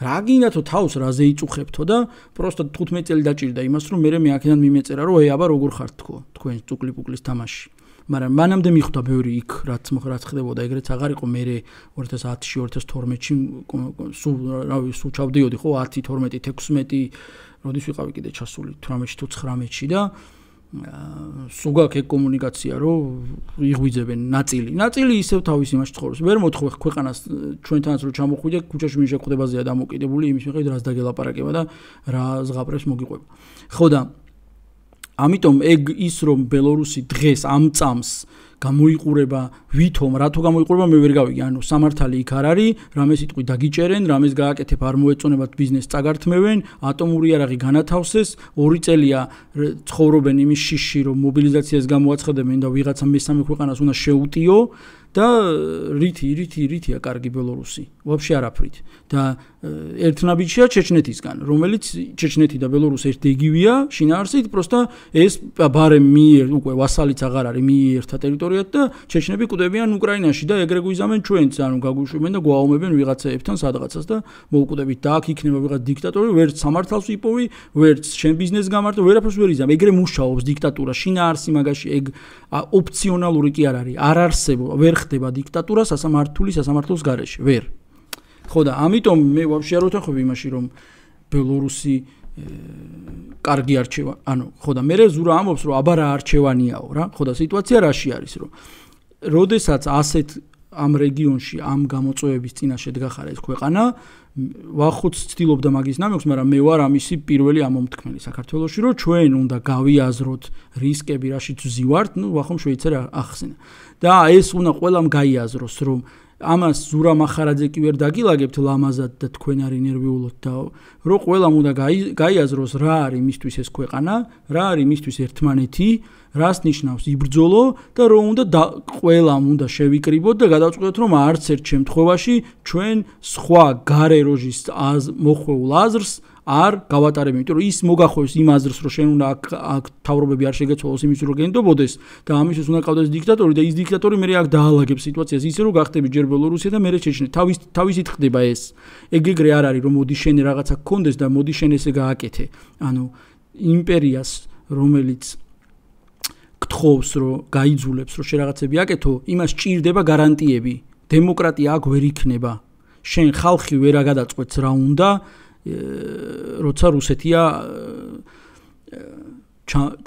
რა გინდათო თავს რაზე იწუხებთო და პროსტა თხუთმეტი წელი დაჭირდა იმას, რომ მე მე აქედან მიმეწერა, რომ ეი აბა როგორ ხართ თქო, თქვენ წუკლი-პუკლის თამაში. მაგრამ მანამდე მიხვდა ბევრი იქ რაც რაც ხდებოდა ეგრეც აღარ იყო მე ორი ათას ათში ორი ათას თორმეტში სულ რავი სულ ჩავდიოდი ხო ათი თორმეტი თექვსმეტი როდის ვიყავი კიდე ჩასული თვრამეტში თუ ცხრამეტში და სულ გაქვს ეგ კომუნიკაცია რომ იღვიძებენ ნაწილი ნაწილი ისევ თავის იმაში ცხოვრობს ვერ მოთხოვე ქვეყანას ჩვენთანაც რომ ჩამოხვიდე ქუჩაში მინ შეხვდებაზეა დამოკიდებული იმის მიხედვით რაც დაგელაპარაკება და რა ზღაპრებს მოგიყვება ხო და ამიტომ ეგ ის რომ ბელორუსი დღეს ამ წამს გამოიყურება ვითომ რათო გამოიყურება მე ვერ გავიგე ანუ სამართალი იქ არ არის რამე სიტყვი დაგიჭერენ რამეს გააკეთებ არ მოეწონებათ ბიზნესს წაგართმევენ ატომური იარაღი განათავსეს ორი წელია ცხოვრობენ იმის შიში რომ მობილიზაციას გამოაცხადებენ და ვიღაცა მესამე ქვეყანას უნდა შეუტიო და რითი რითი რითია კარგი ბელორუსი ვაფშე არაფრით და ერთნაბიჯია ჩეჩნეთისგან რომელიც ჩეჩნეთი და ბელორუსი ერთიგივია შინაარსით პროსტა ეს ბარემ მიერ უკვე ვასალიც აღარ არის მიერთა ტერიტორია ტერიტორიად და ჩეჩნები კვდებიან უკრაინაში და ეგრე გვიზამენ ჩვენც, ანუ გაგვიშვებენ და გვაუმებენ ვიღაცაებთან სადღაცას და მოუკვდებით და აქ იქნება ვიღაც დიქტატორი, ვერც სამართალს ვიპოვი, ვერც შენ ბიზნეს გამარტო, ვერაფერს ვერ იზამ. ეგრე მუშაობს დიქტატურა, შინაარსი მაგაში ეგ ოპციონალური კი არ არის, არ არსებობს, ვერ ხდება დიქტატურა სასამართლოს სასამართლოს გარეშე, ვერ. ხო და ამიტომ მე ვაფშე არ ვეთანხმები იმაში, რომ ბელორუსი კარგი არჩევა, ანუ ხო და მე ზურა ამბობს, რომ აბა რა არჩევანიაო რა, ხო და სიტუაცია რაში არის, რომ როდესაც ასეთ ამ რეგიონში ამ გამოწვევების წინაშე დგახარ ეს ქვეყანა, ვახუც ცდილობდა მაგის ნამექვს, მაგრამ მე ვარ ამისი პირველი ამომთქმელი საქართველოში, რომ ჩვენ უნდა გავიაზროთ რისკები, რაშიც ვზივართ, ნუ ვახომ შვეიცარია ახსენა. და ეს უნდა ყველამ გაიაზროს, რომ ამას ზურა მახარაძე კი ვერ დაგილაგებთ ლამაზად და თქვენ არ ინერვიულოთ და რომ ყველამ უნდა გაიაზროს რა არის მისთვის ეს ქვეყანა, რა არის მისთვის ერთმანეთი, რას ნიშნავს იბრძოლო და რომ უნდა ყველამ უნდა შევიკრიბოთ და გადავწყვეტოთ რომ არც ერთ შემთხვევაში ჩვენ სხვა გარე როჟის მოხვეულ აზრს არ გავატარებთ, იმიტომ რომ ის მოგახვევს იმ აზრს, რომ შენ უნდა აქ თავრობები არ შეგეცვალოს იმის რომ გენდობოდეს და ამისთვის უნდა ყავდეს დიქტატორი და ის დიქტატორი მე აქ დაალაგებს სიტუაციას ისე რომ გახდები ჯერ ბელორუსია და მე ჩეჩნე. თავის თავისით ხდება ეს. ეგ ეგრე არ არის რომ მოდი შენ რაღაცა გქონდეს და მოდი შენ ესე გააკეთე. ანუ იმპერიას რომელიც გთხოვს რომ გაიძულებს რომ შე რაღაცები აკეთო, იმას ჭირდება გარანტიები. დემოკრატია აქ ვერ იქნება. შენ ხალხი ვერ აგადაწყვეტს რა უნდა როცა რუსეთია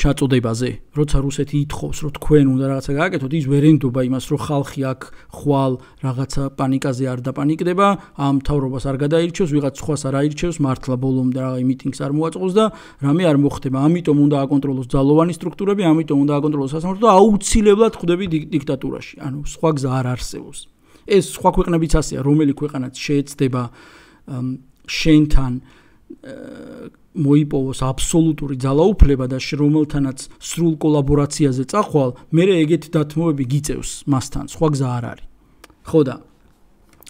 ჩაწოდებაზე, როცა რუსეთი ითხოვს, რომ თქვენ უნდა რაღაცა გააკეთოთ, ის ვერ ენდობა იმას, რომ ხალხი აქ ხვალ რაღაცა პანიკაზე არ დაპანიკდება, ამ მთავრობას არ გადაირჩევს, ვიღაც სხვას არ აირჩევს, მართლა ბოლომდე რა მიტინგს არ მოაწყოს და რამე არ მოხდება. ამიტომ უნდა აკონტროლოს ძალოვანი სტრუქტურები, ამიტომ უნდა აკონტროლოს სასამართლო და აუცილებლად ხვდები დიქტატურაში. ანუ სხვა გზა არ არსებობს. ეს სხვა ქვეყნებიც ასეა, რომელი ქვეყანაც შეეცდება შენთან მოიპოვოს აბსოლუტური ძალაუფლება და რომელთანაც სრულ კოლაბორაციაზე წახვალ, მე ეგეთი დათმობები გიწევს მასთან, სხვა გზა არ არის. ხო და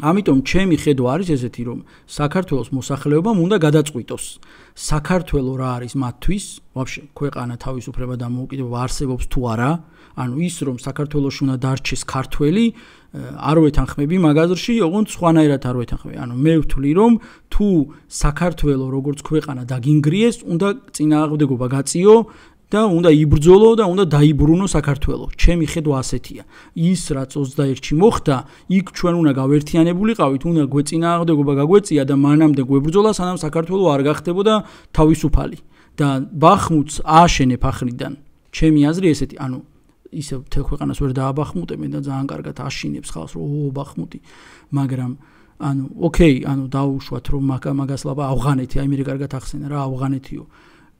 ამიტომ ჩემი ხედვა არის ესეთი, რომ საქართველოს მოსახლეობამ უნდა გადაწყვიტოს, საქართველო რა არის მათთვის, ვაფშე ქვეყანა თავისუფლება და დამოუკიდებლობა არსებობს თუ არა, ანუ ის რომ საქართველოში უნდა დარჩეს ქართველი, არ ვეთანხმები მაგ აზრში, ოღონდ სხვანაირად არ ვეთანხმები. ანუ მე ვთვლი რომ თუ საქართველო როგორც ქვეყანა დაგინგრიეს, უნდა წინააღმდეგობა გაწიო და უნდა იბრძოლო და უნდა დაიბრუნო საქართველო. ჩემი ხედვა ასეთია. ის რაც ოცდაერთში მოხდა, იქ ჩვენ უნდა გავერთიანებულიყავით, უნდა გვეწინააღმდეგობა გაგვეწია და მანამდე გვებრძოლა, სანამ საქართველო არ გახდებოდა თავისუფალი. და ბახმუტს ააშენებ ახრიდან. ჩემი აზრი ესეთი, ანუ ისე მთელ ქვეყანას ვერ დააბახმუტებენ და ძალიან კარგად აშინებს ხალხს, რომ ო ბახმუტი, მაგრამ ანუ ოკეი, ანუ დაუშვათ რომ მაგას ლაბა ავღანეთი, აი მე კარგად ახსენა რა ავღანეთიო.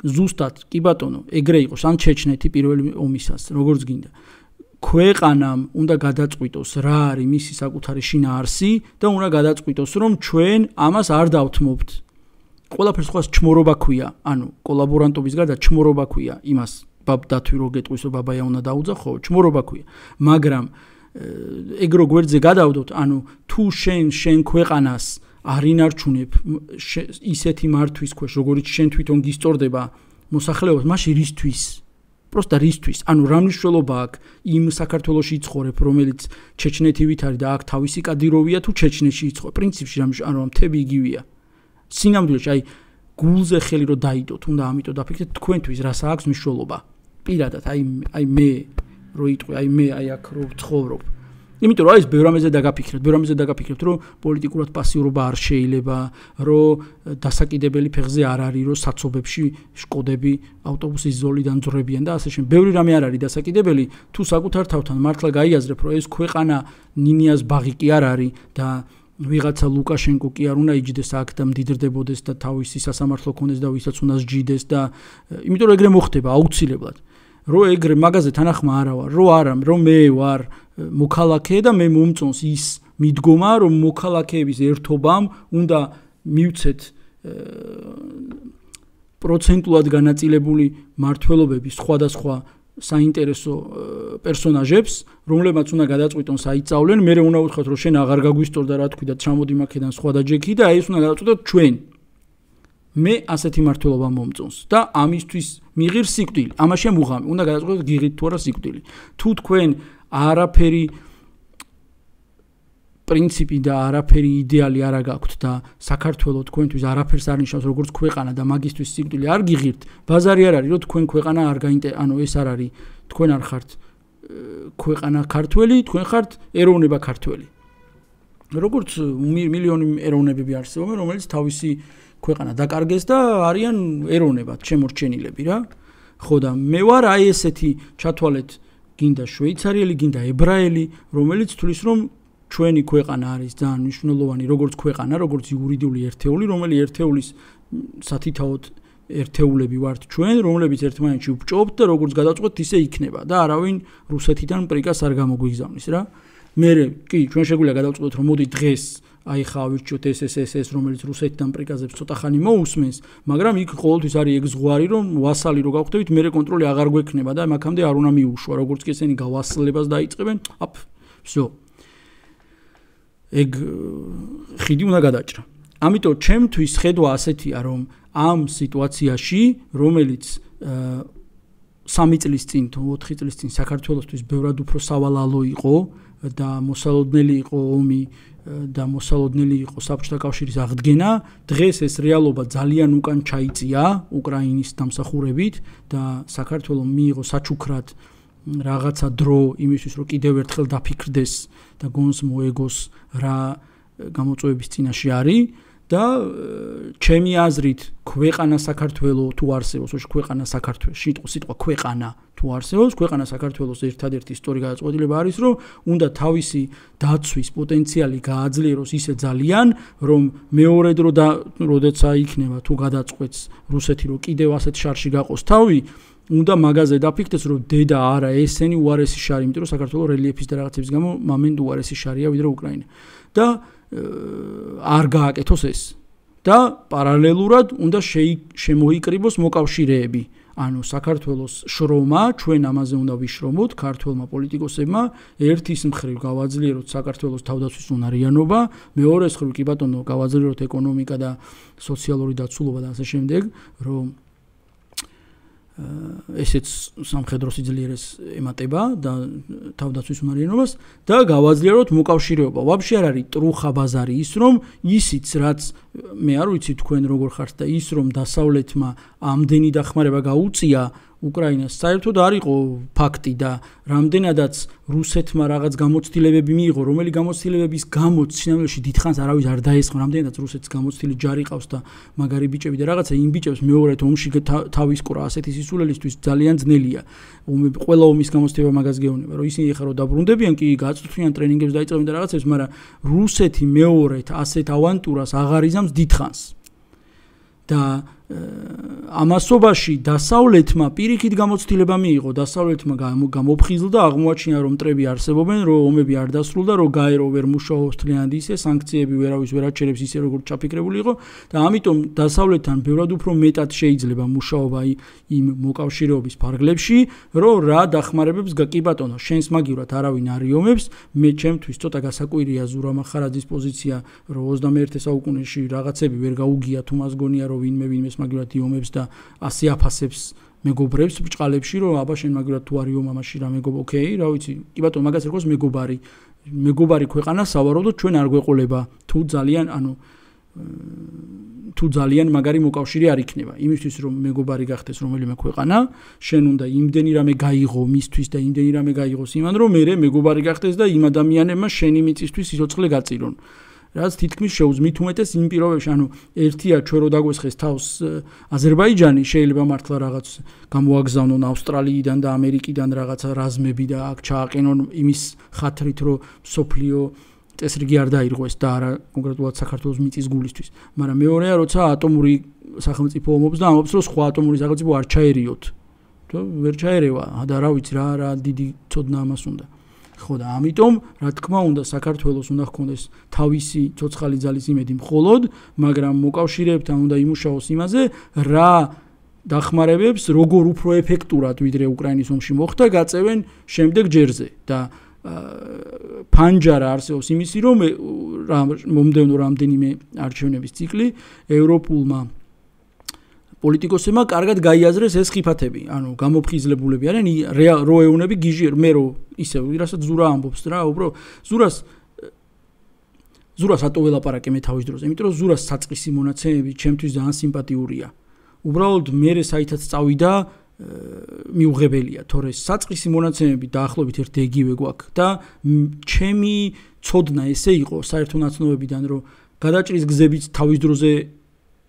ზუსტად, კი ბატონო, ეგრე იყოს, ან ჩეჩნეთი პირველი ომისას, როგორც გინდა. ქვეყანამ უნდა გადაწყვიტოს რა არის მისი საკუთარი შინაარსი და უნდა გადაწყვიტოს რომ ჩვენ ამას არ დავთმობთ. ყველაფერს სხვას ჩმორობა ქვია, ანუ კოლაბორანტობის გარდა ჩმორობა ქვია იმას ბაბდათვი რო გეტყვის რომ ბაბაია უნდა დაუძახო, ხო, ჩმორობა ქვია. მაგრამ ეგ რო გვერდზე გადავდოთ, ანუ თუ შენ შენ ქვეყანას არ ინარჩუნებ ისეთი მართვის ქვეშ, როგორც შენ თვითონ გისწორდება მოსახლეობას, მაშინ რისთვის? პროსტა რისთვის? ანუ რა მნიშვნელობა აქვს იმ საქართველოში იცხოვრებ, რომელიც ჩეჩნეთივით არის და აქ თავისი კადიროვია თუ ჩეჩნეთში იცხოვრებ? პრინციპში რა ანუ მთები იგივეა. სინამდვილეში აი გულზე ხელი რო დაიდოთ, უნდა ამიტომ დაფიქრეთ თქვენთვის რას აქვს მნიშვნელობა. პირადად აი აი მე რო იტყვი, აი მე აი აქ რო ვცხოვრობ. იმიტომ რომ აი ეს ბევრ ამაზე დაგაფიქრეთ, ბევრ ამაზე დაგაფიქრეთ, რომ პოლიტიკურად პასიურობა არ შეიძლება, რომ დასაკიდებელი ფეხზე არ არის, რომ საცობებში შკოდები ავტობუსის ზოლიდან ძრებიან და ასე შემდეგ. ბევრი რამე არ არის დასაკიდებელი, თუ საკუთარ თავთან მართლა გაიაზრებ, რომ ეს ქვეყანა ნინიას ბაღი კი არ არის და ვიღაცა ლუკაშენკო კი არ უნდა იჯდეს აქ და მდიდრდებოდეს და თავისი სასამართლო ქონდეს და ვისაც უნდა სჯიდეს და იმიტომ რომ ეგრე მოხდება აუცილებლად. რო ეგრე მაგაზე თანახმა არა ვარ, რო არა, რომ მე ვარ მოქალაქე და მე მომწონს ის მიდგომა, რომ მოქალაქეების ერთობამ უნდა მივცეთ პროცენტულად განაწილებული მართლობები სხვადასხვა საინტერესო პერსონაჟებს, რომლებმაც უნდა გადაწყვიტონ საიწავლენ, მე უნდა უთხრათ, რომ შენ აღარ გაგვისტორდა რა თქვი და ჩამოდი მაქედან სხვა დაჯექი და აი ეს უნდა გადაწყვიტოთ ჩვენ. მე ასეთი მართლობა მომწონს და ამისთვის მიღირ სიკვდილი. ამაშია მუღამი. უნდა გადაწყვეტოთ გიღით თუ არა სიკვდილი. თუ თქვენ არაფერი პრინციპი და არაფერი იდეალი არ გაქვთ და საქართველოს თქვენთვის არაფერს არ ნიშნავს როგორც ქვეყანა და მაგისტვის სიკვდილი არ გიღირთ, ბაზარი არ არის, რომ თქვენ ქვეყანა არ გაინტერესებს, ანუ ეს არ არის, თქვენ არ ხართ ქვეყანა ქართველი, თქვენ ხართ ეროვნება ქართველი. როგორც მილიონი ეროვნებები არსებობენ, რომელიც თავისი ქვეყანა დაკარგეს და არიან ეროვნებად შემორჩენილები რა. ხო და მე ვარ აი ესეთი ჩათვალეთ გინდა შვეიცარიელი, გინდა ებრაელი, რომელიც თulis რომ ჩვენი ქვეყანა არის ძალიან მნიშვნელოვანი როგორც ქვეყანა, როგორც იურიდიული ერთეული, რომელიც ერთეულის სათითაოდ ერთეულები ვართ ჩვენ, რომლებიც ერთმანეთში ვბჭობთ და როგორც გადავწყვეტთ, ისე იქნება და არავინ რუსეთიდან პრიკას არ გამოგვიგზავნის რა. მე კი ჩვენ შეგვიძლია გადავწყვეტოთ, რომ მოდი დღეს აი ხა ავირჩიოთ ეს ეს ეს ეს რომელიც რუსეთიდან პრიკაზებს ცოტა ხანი მოусმენს, მაგრამ იქ ყოველთვის არის ეგ ზღვარი, რომ ვასალი რო გავხდებით, მე კონტროლი აღარ გვექნება და მაგამდე არ უნდა მიუშვა, როგორც კი ესენი გავასლებას დაიწყებენ, აფ, всё. ეგ ხიდი უნდა გადაჭრა. ამიტომ ჩემთვის ხედვა ასეთია, რომ ამ სიტუაციაში, რომელიც სამი წლის წინ, ოთხი წლის წინ საქართველოსთვის ბევრად უფრო სავალალო იყო და მოსალოდნელი იყო ომი და მოსალოდნელი იყო საბჭოთა კავშირის აღდგენა, დღეს ეს რეალობა ძალიან უკან ჩაიწია უკრაინის დამსახურებით და საქართველოს მიიღო საჩუქრად რაღაცა დრო იმისთვის, რომ კიდევ ერთხელ დაფიქრდეს და გონს მოეგოს რა გამოწვევების წინაშე არის და ჩემი აზრით ქვეყანა საქართველოს თუ არსებობს, ოღონდ ქვეყანა საქართველოს, სიტყვა სიტყვა ქვეყანა თუ არსებობს, ქვეყანა საქართველოს ერთადერთი ისტორიული გადაწყვეტილება არის, რომ უნდა თავისი დაცვის პოტენციალი გააძლიეროს ისე ძალიან, რომ მეორე დრო და როდეცა იქნება თუ გადაწყვეტს რუსეთი, რომ კიდევ ასეთ შარში გაყოს თავი, უნდა მაგაზე დაფიქრდეს, რომ დედა არა ესენი უარესი შარი, იმიტომ რომ საქართველოს რელიეფის და რაღაცების გამო მომენტ უარესი შარია ვიდრე უკრაინა. და არ გააკეთოს ეს. და პარალელურად უნდა შემოიკრიბოს მოკავშირეები. ანუ საქართველოს შრომა, ჩვენ ამაზე უნდა ვიშრომოთ, ქართველმა პოლიტიკოსებმა, ერთის მხრივ გავაძლიეროთ საქართველოს თავდაცვის უნარიანობა, მეორეს მხრივ კი ბატონო გავაძლიეროთ ეკონომიკა და სოციალური დაცულობა და ასე შემდეგ, რომ ესეც სამხედრო სიძლიერეს ემატება და თავდაცვის უნარიანობას და გავაძლიეროთ მოკავშირეობა. ვაფშე არ არის ტრუხა ბაზარი ის, რომ ისიც რაც მე არ ვიცი თქვენ როგორ ხართ და ის რომ დასავლეთმა ამდენი დახმარება გაუწია უკრაინას საერთოდ არ იყო ფაქტი და რამდენადაც რუსეთმა რაღაც გამოცდილებები მიიღო, რომელი გამოცდილებების გამოც სინამდვილეში დიდხანს არავის არ დაესხმა, რამდენადაც რუსეთს გამოცდილი ჯარი ყავს და მაგარი ბიჭები და რაღაცა იმ ბიჭებს მეორედ ომში თავის კრა ასეთი სისულელისთვის ძალიან ძნელია. ყველა ომის გამოცდილება მაგას გეუბნება, რომ ისინი ახლა რო დაბრუნდებიან, კი გაწვრთნიან ტრენინგებს დაიწყებენ და რაღაცებს, მაგრამ რუსეთი მეორედ ასეთ ავანტურას აღარ იზამს დიდხანს. და ამასობაში დასავლეთმა პირიქით გამოცდილება მიიღო, დასავლეთმა გამოფხიზლდა, აღმოაჩინა რომ მტრები არსებობენ, რომ ომები არ დასრულდა, რომ გაერო ვერ მუშაობს თლიანად ისე, სანქციები ვერავის ვერ აჩერებს ისე როგორც ჩაფიქრებული იყო და ამიტომ დასავლეთთან ბევრად უფრო მეტად შეიძლება მუშაობა იმ მოკავშირეობის ფარგლებში, რომ რა დახმარებებს კი ბატონო, შენს მაგივრად არავინ არ იომებს, მე ჩემთვის ცოტა გასაკვირია ზურამ ახარაძის პოზიცია, რომ ოცდამეერთე საუკუნეში რაღაცები ვერ გაუგია თუ მას გონია რომ ვინმე ვინმეს მაგივრად იომებს და ასე აფასებს მეგობრებს ბჭყალებში, რომ აბა შენ მაგივრად თუ არ იომ ამაში რა მეგობ, ოკეი, რა ვიცი, კი ბატონო, მაგას ერქოს მეგობარი, მეგობარი ქვეყანა სავარაუდოდ ჩვენ არ გვეყოლება, თუ ძალიან, ანუ თუ ძალიან მაგარი მოკავშირე არ იქნება. იმისთვის რომ მეგობარი გახდეს რომელიმე ქვეყანა, შენ უნდა იმდენი რამე გაიღო მისთვის და იმდენი რამე გაიღოს იმან, რომ მე მეგობარი გახდეს და იმ ადამიანებმა შენი მიწისთვის სიცოცხლე გაწირონ. რაც თითქმის შეუძმით უმეტეს იმ პირობებში, ანუ ერთია ჩვენ რო დაგვესხეს თავს აზერბაიჯანი, შეიძლება მართლა რაღაც გამოაგზავნონ ავსტრალიიდან და ამერიკიდან რაღაცა რაზმები და აქ ჩააყენონ იმის ხათრით, რომ სოფლიო წესრიგი არ დაირღვეს და არა კონკრეტულად საქართველოს მიწის გულისთვის. მაგრამ მეორეა, როცა ატომური სახელმწიფო ომობს და ამბობს, რომ სხვა ატომური სახელმწიფო არ ჩაერიოთ. თუ ვერ ჩაერევა და რა ვიცი რა რა დიდი ცოდნა ამას უნდა. ხო და ამიტომ რა თქმა უნდა საქართველოს უნდა ჰქონდეს თავისი ცოცხალი ძალის იმედი მხოლოდ, მაგრამ მოკავშირეებთან უნდა იმუშაოს იმაზე, რა დახმარებებს როგორ უფრო ეფექტურად ვიდრე უკრაინის ომში მოხდა, გაწევენ შემდეგ ჯერზე და ფანჯარა არსებობს იმისი, რომ მომდევნო რამდენიმე არჩევნების ციკლი ევროპულმა პოლიტიკოსებმა კარგად გაიაზრეს ეს ხიფათები, ანუ გამოფხიზლებულები არიან, რო ეუნები გიჟი მე რო ისე ვიღაცა ზურა ამბობს რა, უბრალოდ ზურას ზურას ატო ველაპარაკე მე თავის დროზე, იმიტომ რომ ზურას საწყისი მონაცემები ჩემთვის ძალიან სიმპათიურია. უბრალოდ მე საითაც წავიდა მიუღებელია, თორე საწყისი მონაცემები დაახლოებით ერთ ეგივე გვაქვს და ჩემი ცოდნა ესე იყო საერთო ნაცნობებიდან, რომ გადაჭრის გზებიც თავის დროზე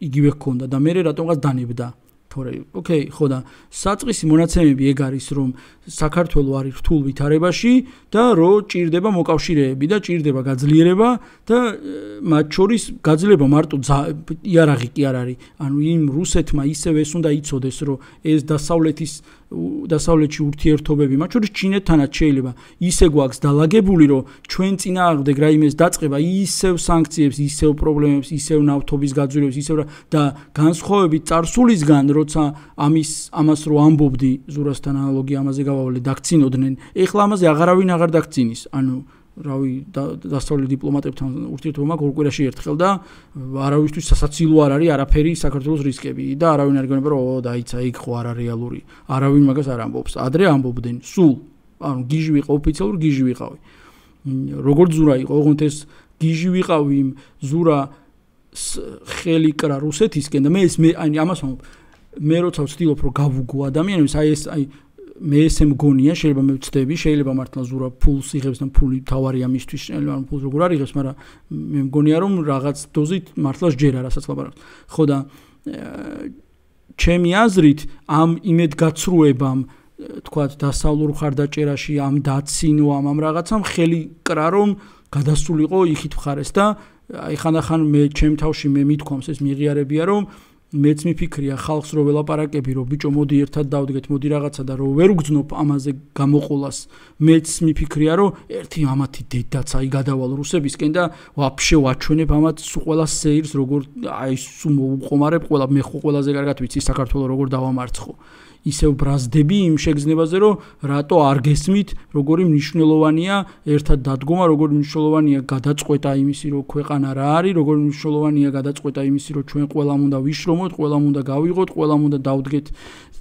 იგივე ჰქონდა და მე რატომღაც დანებდა. თორე, ოკეი, ხო და საწყისი მონაცემები ეგ არის, რომ საქართველო არის რთულ ვითარებაში და რომ ჭირდება მოკავშირეები და ჭირდება გაძლიერება და მათ შორის გაძლიერება მარტო იარაღი კი არ არის. ანუ იმ რუსეთმა ისევ ეს უნდა იცოდეს, რომ ეს დასავლეთის დასავლეთში ურთიერთობები, მათ შორის ჩინეთთანაც შეიძლება ისე გვაქვს დალაგებული, რომ ჩვენ წინააღმდეგ რაიმეს დაწყება ისევ სანქციებს, ისევ პრობლემებს, ისევ ნავთობის გაძვირებას, ისევ და განსხვავებით წარსულისგან, როცა ამის ამას რო ამბობდი ზურასთან ანალოგია ამაზე გავავლე დაგცინოდნენ, ეხლა ამაზე აღარავინ აღარ დაგცინის. ანუ რავი დასავლეთ დიპლომატებთან ურთიერთობა მაქვს ორ კვირაში ერთხელ და არავისთვის სასაცილო არ არის არაფერი საქართველოს რისკები და არავინ არ გეუბნება რომ ო დაიცა იქ ხო არა რეალური. არავინ მაგას არ ამბობს. ადრე ამბობდნენ სულ. ანუ გიჟი ვიყავ ოფიციალურ გიჟი ვიყავი. როგორც ზურა იყო, ოღონდ ეს გიჟი ვიყავი იმ ზურა ხელი კრა რუსეთისკენ და მე ეს მე აი ამას ვამბობ. მე როცა ვცდილობ რომ გავუგო ადამიანებს, აი ეს აი მე ესე მგონია, შეიძლება მე ვცდები, შეიძლება მართლა ზურა ფულს იღებს და ფული თავარია მისთვის, შეიძლება ფულს როგორ არ იღებს, მაგრამ მე მგონია რომ რაღაც დოზით მართლა სჯერა, რასაც ლაპარაკობ. ხო და ჩემი აზრით ამ იმედგაცრუებამ, თქვათ, დასავლურ ხარდაჭერაში, ამ დაცინვამ, ამ რაღაცამ ხელი კრა რომ გადასულიყო იქით მხარეს და აი ხანდახან მე ჩემ თავში მე მithქვამს ეს მიღიარებია რომ მეც მიფიქრია ხალხს რო ველაპარაკები რომ ბიჭო მოდი ერთად დავდგეთ მოდი რაღაცა და რო ვერ უგზნობ ამაზე გამოყოლას მეც მიფიქრია რომ ერთი ამათი დედაც აი გადავალ რუსებისკენ და ვაფშე ვაჩვენებ ამათ სულ ყველა სეირს როგორ აი სულ მოუყომარებ ყველა მე ხო ყველაზე კარგად ვიცი საქართველოს როგორ დავამარცხო ისევ ბრაზდები იმ შეგრძნებაზე რომ რატო არ გესმით როგორი მნიშვნელოვანია ერთად დადგომა როგორი მნიშვნელოვანია გადაწყვეტა იმისი რომ ქვეყანა რა არის როგორი მნიშვნელოვანია გადაწყვეტა იმისი რომ ჩვენ ყველამ უნდა ვიშრომოთ ყველამ უნდა გავიღოთ ყველამ უნდა დავდგეთ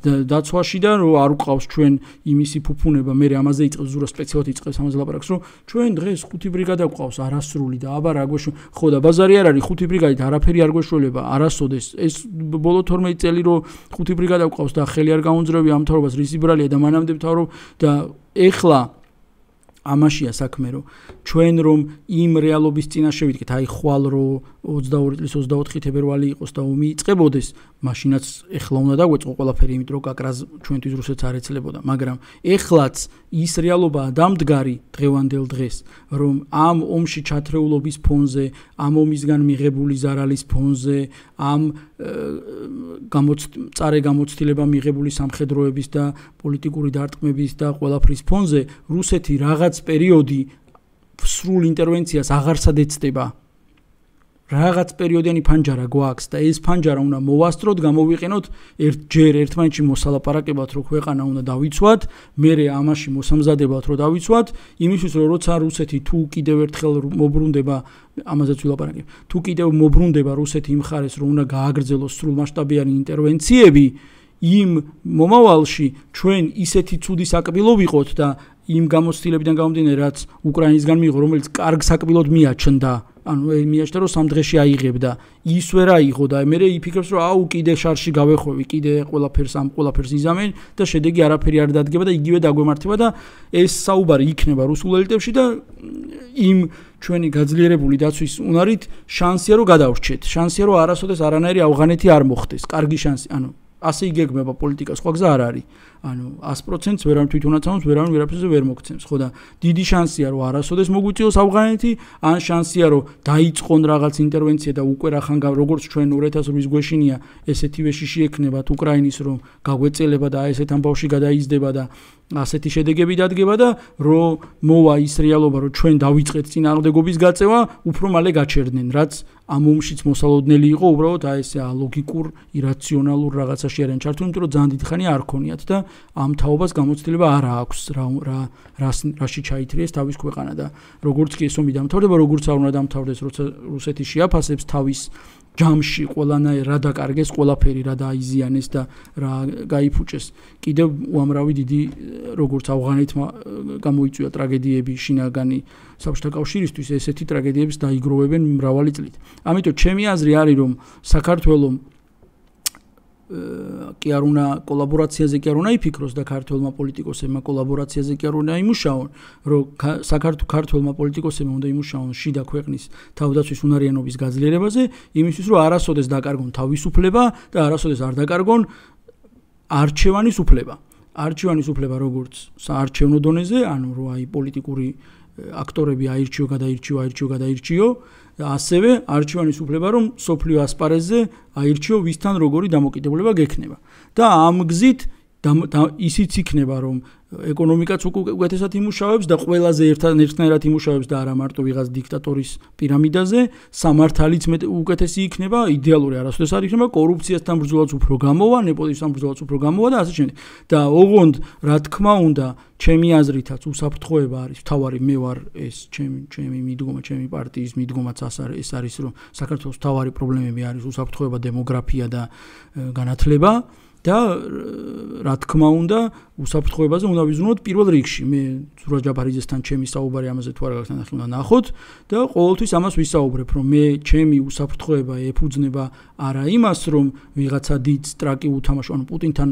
დაცვაში და რომ არ უყავს ჩვენ იმისი ფუფუნება მე ამაზე იწყებს ზურა სპეციალურად იწყებს ამაზე ლაპარაკს რომ ჩვენ დღეს ხუთი ბრიგადა გვყავს არასრული და აბა რა გვეშ ხო და ბაზარი არ არის ხუთი ბრიგადით არაფერი არ გვეშველება არასოდეს ეს ბოლო თორმეტი წელი რომ ხუთი ბრიგადა გვყავს და ხელი არ გაუნძრევი ამ მთავრობას რის ბრალია და მანამდე მთავრობ და ეხლა ამაშია საქმე რომ ჩვენ რომ იმ რეალობის წინაშე ვიდგეთ აი ხვალ რო ოცდაორი წლის ოცდაოთხი თებერვალი იყოს და ომი იწყებოდეს მაშინაც ეხლა უნდა დაგვეწყო ყველაფერი იმიტომ რომ კაკრაზ ჩვენთვის რუსეთს არ ეცლებოდა მაგრამ ეხლაც ის რეალობაა დამდგარი დღევანდელ დღეს რომ ამ ომში ჩათრეულობის ფონზე ამ ომისგან მიღებული ზარალის ფონზე ამ წარე გამოცდილება მიღებული სამხედროების და პოლიტიკური დარტყმების და ყველაფრის ფონზე რუსეთი რაღაც პერიოდი სრულ ინტერვენციას აღარსად ეცდება რაღაც პერიოდიანი ფანჯარა გვაქვს და ეს ფანჯარა უნდა მოვასწროთ გამოვიყენოთ ერთჯერ ერთმანეთში მოსალაპარაკებად რომ ქვეყანა უნდა დავიცვათ მერე ამაში მოსამზადებად რომ დავიცვათ იმისთვის რომ როცა რუსეთი თუ კიდევ ერთხელ მობრუნდება ამაზეც ვილაპარაკებ თუ კიდევ მობრუნდება რუსეთი იმ ხარეს რომ უნდა გააგრძელოს სრულმასშტაბიანი ინტერვენციები იმ მომავალში ჩვენ ისეთი ცუდი საკბილო ვიყოთ და იმ გამოცდილებიდან გამომდინარე რაც უკრაინისგან მიიღო რომელიც კარგ საკბილოდ მიაჩნდა ანუ მიაჩნდა რომ სამ დღეში აიღებდა ის ვერ აიღო და მე იფიქრებს რომ აუ კიდე შარში გავეხვევი კიდე ყველაფერს ამ ყველაფერს იზამენ და შედეგი არაფერი არ დადგება და იგივე დაგვემართება და ეს საუბარი იქნება რუსულ ელიტებში და იმ ჩვენი გაძლიერებული დაცვის უნარით შანსია რომ გადავრჩეთ შანსია რომ არასოდეს არანაირი ავღანეთი არ მოხდეს კარგი შანსი ანუ ასე იგეგმება პოლიტიკა სხვა გზა არ არის ანუ ას პროცენტს ვერავინ თვითონაც ამბობს ვერავინ ვერაფერზე ვერ მოგცემს ხო და დიდი შანსია რომ არასოდეს მოგვიწიოს ავღანეთი ან შანსია რომ დაიწყონ რაღაც ინტერვენცია და უკვე რახან როგორც ჩვენ ორი ათას რვის გვეშინია ესეთივე შიში ექნებათ უკრაინის რომ გაგვეწელება და ესეთ ამბავში გადაიზრდება და ასეთი შედეგები დადგება და რომ მოვა ის რეალობა რომ ჩვენ დავიწყეთ წინააღმდეგობის გაწევა უფრო მალე გაჩერდნენ რაც ამ ომშიც მოსალოდნელი იყო უბრალოდ აი ესე ალოგიკურ ირაციონალურ რაღაცაში არიან ჩართული იმიტომ რომ ძალიან დიდი ხანია არ ქონიათ და ამ თაობას გამოცდილება არ აქვს რა რა რაში ჩაითრიეს თავის ქვეყანა და როგორც კი ეს ომი დამთავრდება როგორც არ უნდა დამთავრდეს როცა რუსეთი შეაფასებს თავის ჯამში ყველანაირ რა დაკარგეს, ყველაფერი რა დაიზიანეს და რა გაიფუჭეს. კიდევ უამრავი დიდი როგორც ავღანეთმა გამოიწვია ტრაგედიები შინაგანი საბჭოთა კავშირისთვის, ესეთი ტრაგედიების დაიგროვებენ მრავალი წლით. ამიტომ ჩემი აზრი არის, რომ საქართველოს კი არ უნდა კოლაბორაციაზე კი არ უნდა იფიქროს და ქართველმა პოლიტიკოსებმა კოლაბორაციაზე კი არ უნდა იმუშაონ, რომ საქართველოს პოლიტიკოსებმა უნდა იმუშაონ შიდა ქვეყნის თავდაცვის უნარიანობის გაძლიერებაზე, იმისთვის რომ არასოდეს დაკარგონ თავისუფლება და არასოდეს არ დაკარგონ არჩევანის უფლება. არჩევანის უფლება როგორც საარჩევნო დონეზე, ანუ რომ აი პოლიტიკური აქტორები აირჩიო, გადაირჩიო, აირჩიო, გადაირჩიო და ასევე არჩევანის უფლება რომ სოფლიო ასპარეზზე აირჩიო ვისთან როგორი დამოკიდებულება გექნება. და ამ გზით ისიც იქნება რომ ეკონომიკაც უკეთესად იმუშავებს და ყველაზე ერთნაირად იმუშავებს და არა მარტო ვიღაც დიქტატორის პირამიდაზე, სამართალიც უკეთესი იქნება, იდეალური არასოდეს არ იქნება, კორუფციასთან ბრძოლაც უფრო გამოვა, ნეპოტიზმთან ბრძოლაც უფრო გამოვა და ასე შემდეგ. და ოღონდ რა თქმა უნდა, ჩემი აზრითაც უსაფრთხოება არის, თავარი მე ვარ ეს ჩემი ჩემი მიდგომა, ჩემი პარტიის მიდგომაც ეს არის, რომ საქართველოს თავარი პრობლემები არის უსაფრთხოება, დემოგრაფია და განათლება. და რა თქმა უნდა უსაფრთხოებაზე უნდა ვიზრუნოთ პირველ რიგში. მე ზურაბ ჯაბარიძესთან ჩემი საუბარი ამაზე თუ არა გასთან ახლა უნდა ნახოთ და ყოველთვის ამას ვისაუბრებ, რომ მე ჩემი უსაფრთხოება ეფუძნება არა იმას, რომ ვიღაცა დიდ ტრაკი უთამაშო, ანუ პუტინთან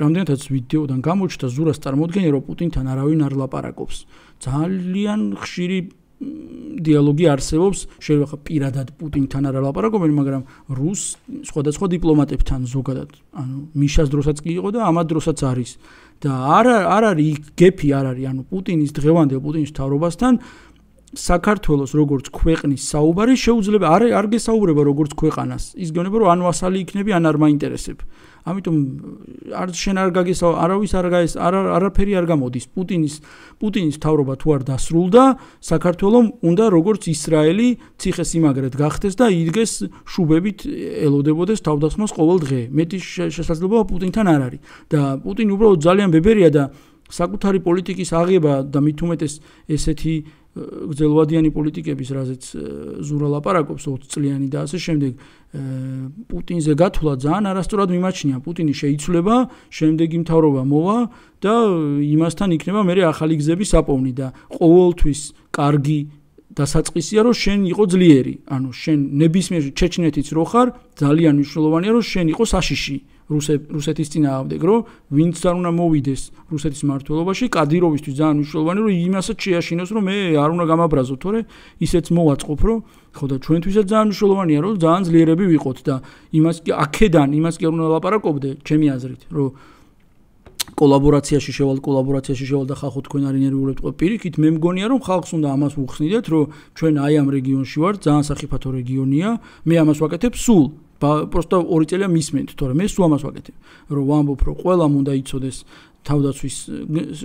რამდენადაც ვიდეოდან გამოჩნდა ზურას წარმოდგენა, რომ პუტინთან არავინ არ ლაპარაკობს. ძალიან ხშირი დიალოგი არსებობს, შეიძლება პირადად პუტინთან არ ლაპარაკობენ, მაგრამ რუს სხვადასხვა დიპლომატებთან ზოგადად, ანუ მიშას დროსაც კი იყო და ამად დროსაც არის. და არ არ არის გეფი არ არის, ანუ პუტინის დღევანდელ პუტინის მთავრობასთან საქართველოს როგორც ქვეყნის საუბარი შეუძლება არ არ გესაუბრება როგორც ქვეყანას. ის გეუბნება რომ ან ვასალი იქნები, ან არ მაინტერესებ. ამიტომ არ შენ არ გაგესა არავის არ გაეს არ არაფერი არ გამოდის. პუტინის პუტინის მთავრობა თუ არ დასრულდა, საქართველოს უნდა როგორც ისრაელი ციხესიმაგრედ გახდეს და იდგეს შუბებით ელოდებოდეს თავდასხმას ყოველ დღე. მეტი შესაძლებლობა პუტინთან არ არის. და პუტინი უბრალოდ ძალიან ბებერია და საკუთარი პოლიტიკის აღება და მით უმეტეს ესეთი გრძელვადიანი პოლიტიკების, რაზეც ზურა ლაპარაკობს ოცი წლიანი და ასე შემდეგ, პუტინზე გათვლა ძალიან არასწორად მიმაჩნია. პუტინი შეიცვლება, შემდეგი მთავრობა მოვა და იმასთან იქნება მე ახალი გზების საპოვნი და ყოველთვის კარგი დასაწყისია რომ შენ იყო ძლიერი. ანუ შენ ნებისმიერ ჩეჩნეთიც რო ხარ, ძალიან მნიშვნელოვანია რომ შენ იყო საშიში. რუსეთის წინააღმდეგ, რომ ვინც არ უნდა მოვიდეს რუსეთის მმართველობაში, კადიროვისთვის ძალიან მნიშვნელოვანი, რომ იმასაც შეაშინოს, რომ მე არ უნდა გამაბრაზო, თორე ისეც მოვაწყობ, რომ ხო და ჩვენთვისაც ძალიან მნიშვნელოვანია, რომ ძალიან ძლიერები ვიყოთ და იმას კი აქედან, იმას კი არ უნდა ლაპარაკობდე, ჩემი აზრით, რომ კოლაბორაციაში შევალ, კოლაბორაციაში შევალ და ხალხო თქვენ არ ინერვიულებთ ყო პირიქით, მე მგონია, რომ ხალხს უნდა ამას უხსნიდეთ, რომ ჩვენ აი ამ რეგიონში ვართ, ძალიან სახიფათო რეგიონია, მე ამას ვაკეთებ სულ просто ორი წელია მისმენთ, თორე მე სულ ამას ვაკეთებ, რომ ვამბობ, რომ ყველამ უნდა იცოდეს თავდაცვის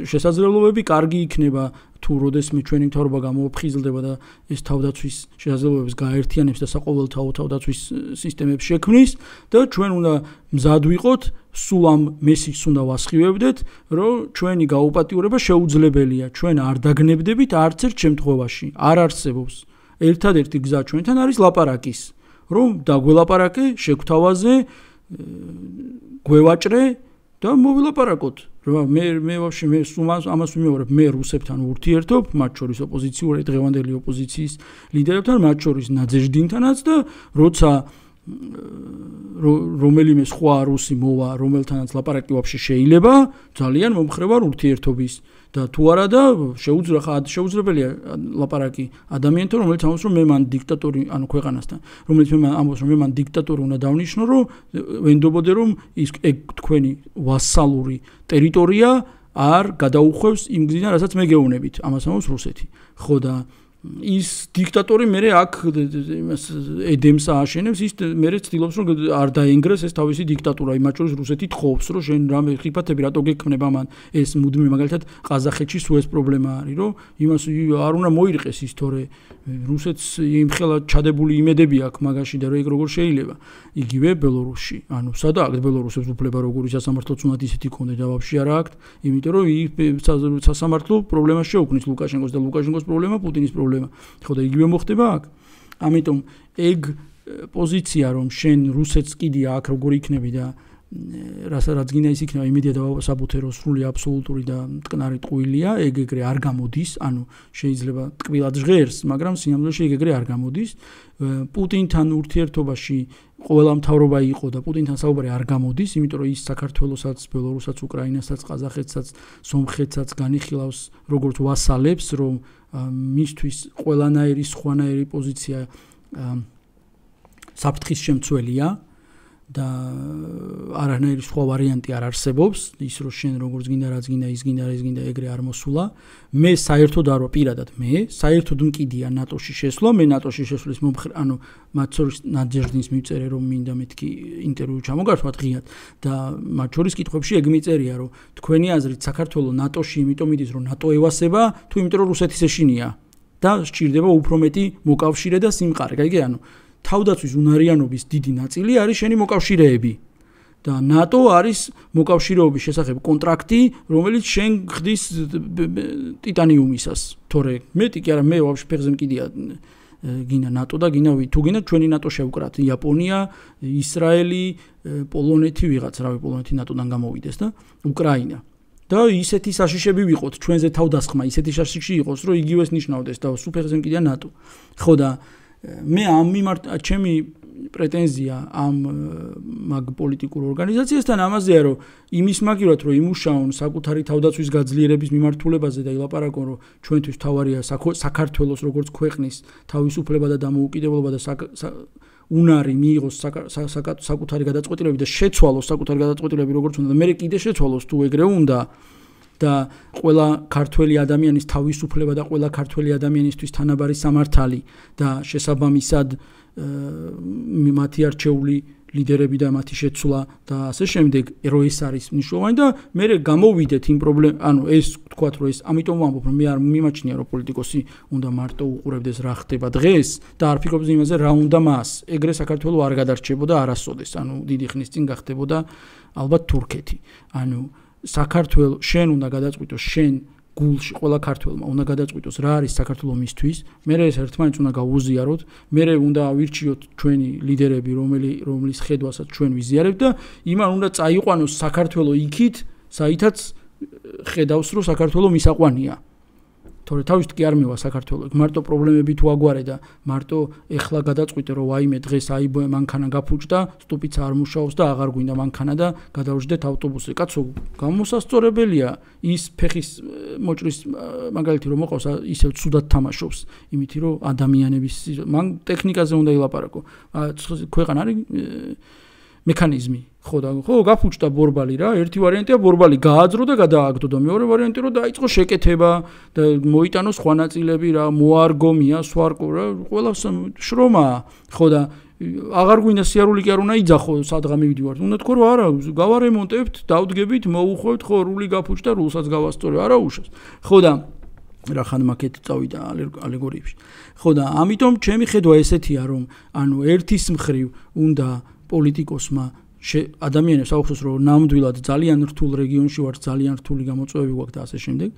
შესაძლებლობები, კარგი იქნება თუ როდესმე ჩვენი მთავრობა გამოფხიზლდება და ეს თავდაცვის შესაძლებლობებს გააერთიანებს და საყოველთაო თავდაცვის სისტემებს შექმნის და ჩვენ უნდა მზად ვიყოთ, სულ ამ მესიჯს უნდა ვასხივებდეთ, რომ ჩვენი გაუპატიურება შეუძლებელია, ჩვენ არ დაგნებდებით არც ერთ შემთხვევაში, არ არსებობს. ერთადერთი გზა ჩვენთან არის ლაპარაკის. რომ დაგველაპარაკე, შეგთავაზე, გვევაჭრე და მოვილაპარაკოთ. რომ მე მე ვაფშე მე სუმას ამას ვიმეორებ, მე რუსებთან ურთიერთობ, მათ შორის ოპოზიციური დღევანდელი ოპოზიციის ლიდერებთან, მათ შორის ნაძეჟდინთანაც და როცა რომელიმე სხვა რუსი მოვა, რომელთანაც ლაპარაკი ვაფშე შეიძლება, ძალიან მომხრე ვარ ურთიერთობის და თუ არა და შეუძლია შეუძლებელია ლაპარაკი ადამიანთან, რომელიც ამბობს, რომ მე მან დიქტატორი, ანუ ქვეყანასთან, რომელიც მე ამბობს, რომ მე მან დიქტატორი უნდა დავნიშნო, რომ ვენდობოდე, რომ ის თქვენი ვასალური ტერიტორია არ გადაუხვევს იმ გზიდან, რასაც მე გეუბნებით. ამას ამბობს რუსეთი. ხო და ის დიქტატორი მერე აქ იმას ედემს ააშენებს, ის მერე ცდილობს, რომ არ დაენგრეს ეს თავისი დიქტატურა, იმათ შორის რუსეთი თხოვს, რომ შენ რამე ხიფათები რატო გექმნება მან ეს მუდმივი, მაგალითად ყაზახეთში სულ ეს პრობლემა არის, რომ იმას არ უნდა მოირყეს ის, თორე რუსეთს იმხელა ჩადებული იმედები აქვს მაგაში და რომ ეგ როგორ შეიძლება. იგივე ბელორუსში, ანუ სადა აქ ბელორუსებს უფლება როგორი სასამართლოც უნდა ისეთი ქონდეს და ვაფშე არა აქვს, იმიტომ რომ ის სასამართლო პრობლემას შეუქმნის ლუკაშენკოს და ლუკაშენკოს პრობლემა პუტინის პრობლემა. ხო და იგივე მოხდება აქ. ამიტომ ეგ პოზიცია რომ შენ რუსეთს კიდია აქ როგორ იქნები და რასაც გინდა ის იქნება იმედია და საბუთერო სრული აბსოლუტური და მტკნარი ტყუილია ეგ ეგრე არ გამოდის ანუ შეიძლება ტკბილად ჟღერს მაგრამ სინამდვილეში ეგ ეგრე არ გამოდის პუტინთან ურთიერთობაში ყველა მთავრობა იყო და პუტინთან საუბარი არ გამოდის იმიტომ რომ ის საქართველოსაც ბელორუსსაც უკრაინასაც ყაზახეთსაც სომხეთსაც განიხილავს როგორც ვასალებს რომ მისთვის ყველანაირი სხვანაირი პოზიცია საფრთხის შემცველია და არანაირი სხვა ვარიანტი არ არსებობს ის რომ შენ როგორც გინდა რაც გინდა ის გინდა ის გინდა ეგრე არ მოსულა მე საერთოდ არ ვარ პირადად მე საერთოდ მკიდია ნატოში შესვლა მე ნატოში შესვლის მომხრე ანუ მათ შორის ნაჯერდინის მივწერე რომ მინდა მეთქი ინტერვიუ ჩამოგართვათ ღიად და მათ შორის კითხვებში ეგ მიწერია რომ თქვენი აზრით საქართველოს ნატოში იმიტომ მიდის რომ ნატო ევასება თუ იმიტომ რომ რუსეთის ეშინია და სჭირდება უფრო მეტი მოკავშირე და სიმყარე გაიგე ანუ თავდაცვის უნარიანობის დიდი ნაწილი არის შენი მოკავშირეები და ნატო არის მოკავშირეობის შესახებ კონტრაქტი რომელიც შენ ხდის ტიტანიუმისას თორე მეტი კი არა მე ვაფშე ფეხზე მკიდია გინდა ნატო და გინდა თუ გინდა ჩვენი ნატო შევკრათ იაპონია ისრაელი პოლონეთი ვიღაც რავი პოლონეთი ნატოდან გამოვიდეს და უკრაინა და ისეთი საშიშები ვიყოთ ჩვენზე თავდასხმა ისეთი საშიში იყოს რომ იგივეს ნიშნავდეს და სულ ფეხზე მკიდია ნატო ხო და მე ამ მიმართ ჩემი პრეტენზია ამ მაგ პოლიტიკურ ორგანიზაციასთან ამაზეა რომ იმის მაგივრად რომ იმუშაონ საკუთარი თავდაცვის გაძლიერების მიმართულებაზე და ილაპარაკონ რომ ჩვენთვის თავარია საქართველოს როგორც ქვეყნის თავისუფლება და დამოუკიდებლობა და უნარი მიიღოს საკუთარი გადაწყვეტილებები და შეცვალოს საკუთარი გადაწყვეტილებები როგორც უნდა და მე კიდე შეცვალოს თუ ეგრე უნდა და ყველა ქართველი ადამიანის თავისუფლება და ყველა ქართველი ადამიანისთვის თანაბარი სამართალი და შესაბამისად მათი არჩეული ლიდერები და მათი შეცვლა და ასე შემდეგ რო ეს არის მნიშვნელოვანი და მე გამოვიდეთ იმ პრობლემ ანუ ეს თქვათ რომ ეს ამიტომ ვამბობ რომ მე არ მიმაჩნია რომ პოლიტიკოსი უნდა მარტო უყურებდეს რა ხდება დღეს და არ ფიქრობს იმაზე რა უნდა მას ეგრე საქართველოს არ გადარჩებოდა არასოდეს ანუ დიდი ხნის წინ გახდებოდა ალბათ თურქეთი ანუ საქართველოს შენ უნდა გადაწყვიტოს შენ გულში ყველა ქართველმა უნდა გადაწყვიტოს რა არის საქართველოს მისთვის მე ეს ერთმანეთს უნდა გავუზიაროთ მე უნდა ავირჩიოთ ჩვენი ლიდერები რომელი რომლის ხედვასაც ჩვენ ვიზიარებთ და იმან უნდა წაიყვანოს საქართველოს იქით საითაც ხედავს რომ საქართველოს მისაყვანია თორე თავის კი არ მევა საქართველოს მარტო პრობლემები თუ აგვარე და მარტო ეხლა გადაწყვიტე რომ ვაიმე დღეს აი მანქანა გაფუჭდა სტუპიც არ მუშაობს და აღარ გვინდა მანქანა და გადავждეთ ავტობუსზე კაცო გამოსასწორებელია ის ფეხის მოჭრის მაგალითი რომ მოყავს ისევ ცუდად თამაშობს იმითი რომ ადამიანების მან ტექნიკაზე უნდა ილაპარაკო ქვეყანა არის მექანიზმი ხო და ხო გაფუჭდა ბორბალი რა ერთი ვარიანტია ბორბალი გააძრო და გადააგდო და მეორე ვარიანტი რომ დაიწყო შეკეთება და მოიტანოს სხვა ნაწილები რა მოარგო მია სვარკო რა ყველა შრომა ხო და აღარ გვინდა სიარული კი არ უნდა იძახო სადღა მივდივართ უნდა თქო რომ არა გავარემონტებთ დავდგებით მოუხვევთ ხო რული გაფუჭდა რულსაც გავასწორე არა უშავს ხო და რა ხან მაკეთ წავიდა ალეგორიებში ხო და ამიტომ ჩემი ხედვა ესეთია რომ ანუ ერთის მხრივ უნდა პოლიტიკოსმა ადამიანებს აუხსოს რომ ნამდვილად ძალიან რთულ რეგიონში ვართ ძალიან რთული გამოწვევები გვაქვს და ასე შემდეგ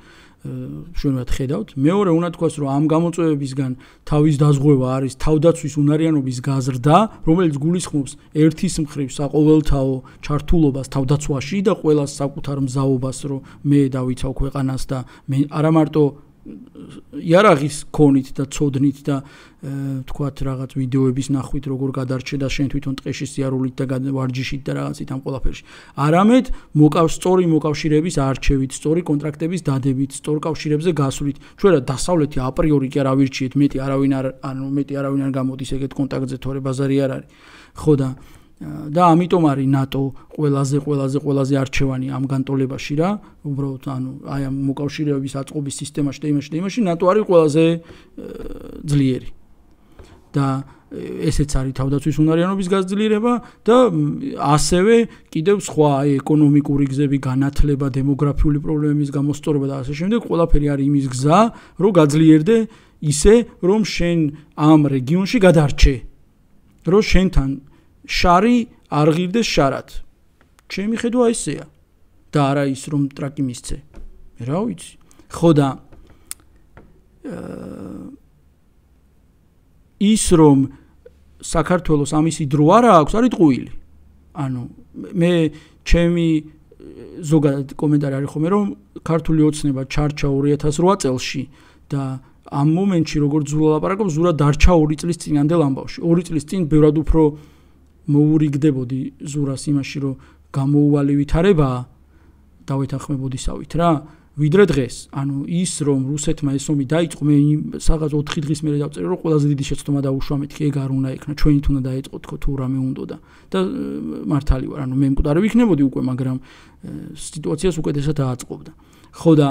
შუანად ხედავთ მეორე უნდა თქვას რომ ამ გამოწვევებისგან თავის დაზღვევა არის თავდაცვის უნარიანობის გაზრდა რომელიც გულისხმობს ერთის მხრივ საყოველთაო ჩართულობას თავდაცვაში და ყველას საკუთარ მზაობას რომ მე დავიცავ ქვეყანას და მე არა მარტო იარაღის ქონით და წოდნით და თქვათ რაღაც ვიდეოების ნახვით როგორ გადარჩე და შენ თვითონ ტყეში სიარულით და ვარჯიშით და რაღაცით ამ ყველაფერში არამედ მოკავს სწორი მოკავშირეების არჩევით სწორი კონტრაქტების დადებით სწორ კავშირებზე გასვლით ჩვენ რა დასავლეთი აპრიორი კი არ ავირჩიეთ მეტი არავინ არ ანუ მეტი არავინ არ გამოდის ეგეთ კონტაქტზე თორე ბაზარი არ არის ხო და და ამიტომ არის ნატო ყველაზე ყველაზე ყველაზე არჩევანი ამ განტოლებაში რა უბრალოდ ანუ აი ამ მოკავშირეების აწყობის სისტემაში და იმაში და იმაში ნატო არის ყველაზე ძლიერი და ესეც არის თავდაცვის უნარიანობის გაძლიერება და ასევე კიდევ სხვა აი ეკონომიკური გზები განათლება დემოგრაფიული პრობლემების გამოსწორება და ასე შემდეგ ყველაფერი არის იმის გზა რომ გაძლიერდე ისე რომ შენ ამ რეგიონში გადარჩე რომ შენთან შარი არ ღირდეს შარად. ჩემი ხედვა ესეა. და არა ის რომ ტრაკი მისცე. რა ვიცი. ხო და ის რომ საქართველოს ამისი დრო არა აქვს, არის ტყუილი. ანუ მე ჩემი ზოგადად კომენტარი არის ხოლმე რომ ქართული ოცნება ჩარჩა ორი ათას რვა წელში და ამ მომენტში როგორც ზურა ლაპარაკობს, ზურა დარჩა ორი წლის წინანდელ ამბავში. ორი წლის წინ ბევრად უფრო მოურიგდებოდი ზურას იმაში, რომ გამოუვალი ვითარებაა დავეთანხმებოდისავით რა. ვიდრე დღეს, ანუ ის რომ რუსეთმა ეს ომი დაიწყო, მე სადღაც ოთხი დღის მერე დავწერე, რომ ყველაზე დიდი შეცდომა დაუშვა მეთქი, ეგ არ უნდა იქნა, ჩვენით უნდა დაიწყო თქო თუ რამე უნდოდა. და მართალი ვარ, ანუ მე მკვდარი ვიქნებოდი უკვე, მაგრამ სიტუაციას უკეთესად აწყობდა. ხო და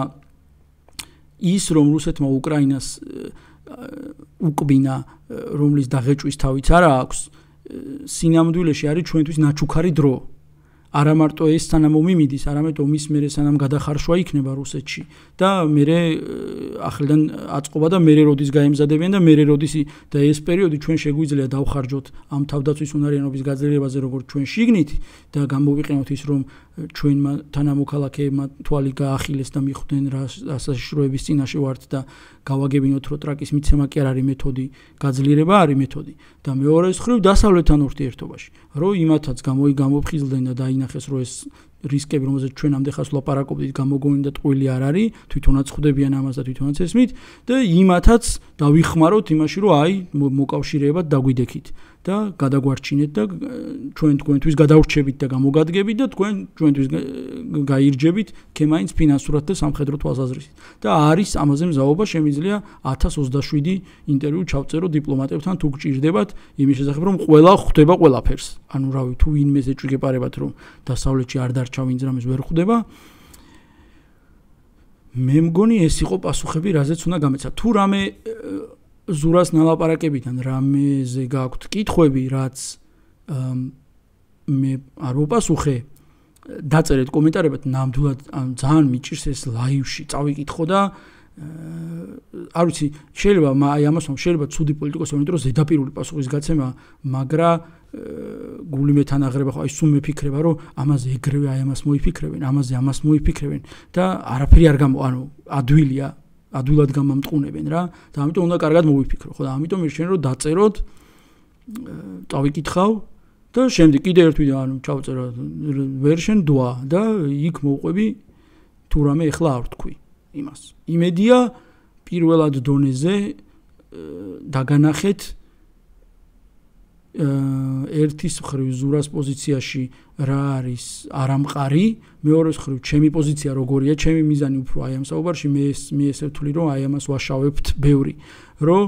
ის რომ რუსეთმა უკრაინას უკბინა, რომლის დაღეჭვის თავიც არა აქვს, სინამდვილეში არის ჩვენთვის ნაჩუქარი დრო. არა მარტო ეს სანამ ომი მიდის, არამედ ომის მერე სანამ გადახარშვა იქნება რუსეთში და მერე ახლიდან აწყობა და მერე როდის გაემზადებიან და მერე როდის და ეს პერიოდი ჩვენ შეგვიძლია დავხარჯოთ ამ თავდაცვის უნარიანობის გაძლიერებაზე როგორც ჩვენ შიგნით და გამოვიყენოთ ის რომ ჩვენმა თანამოქალაქეებმა თვალი გაახილეს და მიხვდნენ რა საშიშროების წინაშე ვართ და გავაგებინოთ რომ ტრაკის მიცემა კი არ არის მეთოდი, გაძლიერება არის მეთოდი და მეორეს მხრივ დასავლეთთან ურთიერთობაში რომ იმათაც გამოფხიზლდნენ და დაინახეს რომ ეს რისკები რომელზეც ჩვენ ამდენ ლაპარაკობდით გამოგონილ და ტყუილი არ არის თვითონაც ხვდებიან ამას და თვითონაც ესმით და იმათაც დავიხმაროთ იმაში რომ აი მოკავშირეებად დაგვიდექით და გადაგვარჩინეთ და ჩვენ თქვენთვის გადავრჩებით და გამოგადგებით და თქვენ ჩვენთვის გაირჯებით ქემაინც ფინანსურად და სამხედრო თვალსაზრისით და არის ამაზე მზაობა შემიძლია ათას ოცდაშვიდი ინტერვიუ ჩავწერო დიპლომატებთან თუ გჭირდებათ იმის შესახებ რომ ყველა ხვდება ყველაფერს ანუ რავი თუ ვინმე ეჭვი გეპარებათ რომ დასავლეთში არ დარჩა ვინც რამეს ვერ ხვდება მე მგონი ეს იყო პასუხები რაზეც უნდა გამეცა თუ რამე ზურას ნალაპარაკებიდან რამეზე გაქვთ კითხვები რაც მე არ ვუპასუხე დაწერეთ კომენტარებად ნამდვილად ძალიან მიჭირს ეს ლაივში წავიკითხო და არ ვიცი შეიძლება აი ამას შეიძლება ცუდი პოლიტიკოსი იმიტომ რომ ზედაპირული პასუხის გაცემა მაგრა გული მეთანაღრება ხო აი სულ მეფიქრება რომ ამაზე ეგრევე აი ამას მოიფიქრებენ ამაზე ამას მოიფიქრებენ და არაფერი არ გამო ანუ ადვილია ადვილად გამამტყუნებენ რა და ამიტომ უნდა კარგად მოვიფიქრო ხო და ამიტომ მირჩენ რომ დაწეროთ წავიკითხავ და შემდეგ კიდე ერთ ვიდეო ანუ ჩავწერო ვერშენ დვა და იქ მოვყვები თუ რამე ეხლა არ ვთქვი იმას იმედია პირველად დონეზე დაგანახეთ ერთის მხრივ ზურას პოზიციაში რა არის არამყარი მეორეს მხრივ ჩემი პოზიცია როგორია ჩემი მიზანი უფრო აი ამ საუბარში მე მე ესე ვთვლი რომ აი ამას ვაშავებთ ბევრი რომ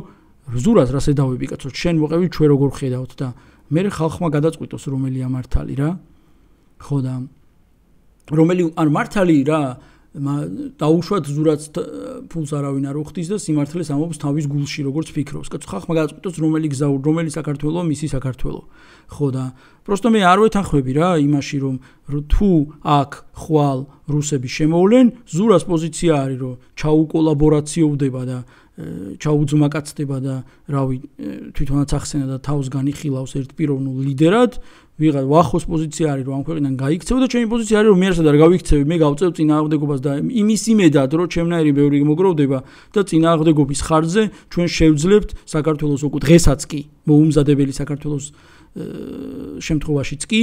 ზურას რასე დავები კაცო შენ მოყევი ჩვენ როგორ ხედავთ და მე ხალხმა გადაწყვიტოს რომელია მართალი რა ხო და რომელი ან მართალი რა დაუშვათ ზურაც ფულს არავინ არ უხდის და სიმართლეს ამბობს თავის გულში როგორც ფიქრობს. კაცო ხალხმა გადაწყვიტოს რომელი გზა რომელი საქართველო მისი საქართველო. ხო და პროსტო მე არ ვეთანხმები რა იმაში რომ თუ აქ ხვალ რუსები შემოვლენ ზურას პოზიცია არის რომ ჩაუკოლაბორაციოვდება და ჩაუძმაკაცდება და რავი თვითონაც ახსენა და თავს განიხილავს ერთ პიროვნულ ლიდერად ვიღა ვახოს პოზიცია არის რომ ამ ქვეყნიდან გაიქცევ და ჩემი პოზიცია არის რომ მე არსად არ გავიქცევი მე გავწევ წინააღმდეგობას და იმის იმედად რომ ჩემნაირი ბევრი მოგროვდება და წინააღმდეგობის ხარჯზე ჩვენ შევძლებთ საქართველოს უკვე დღესაც კი მოუმზადებელი საქართველოს შემთხვევაშიც კი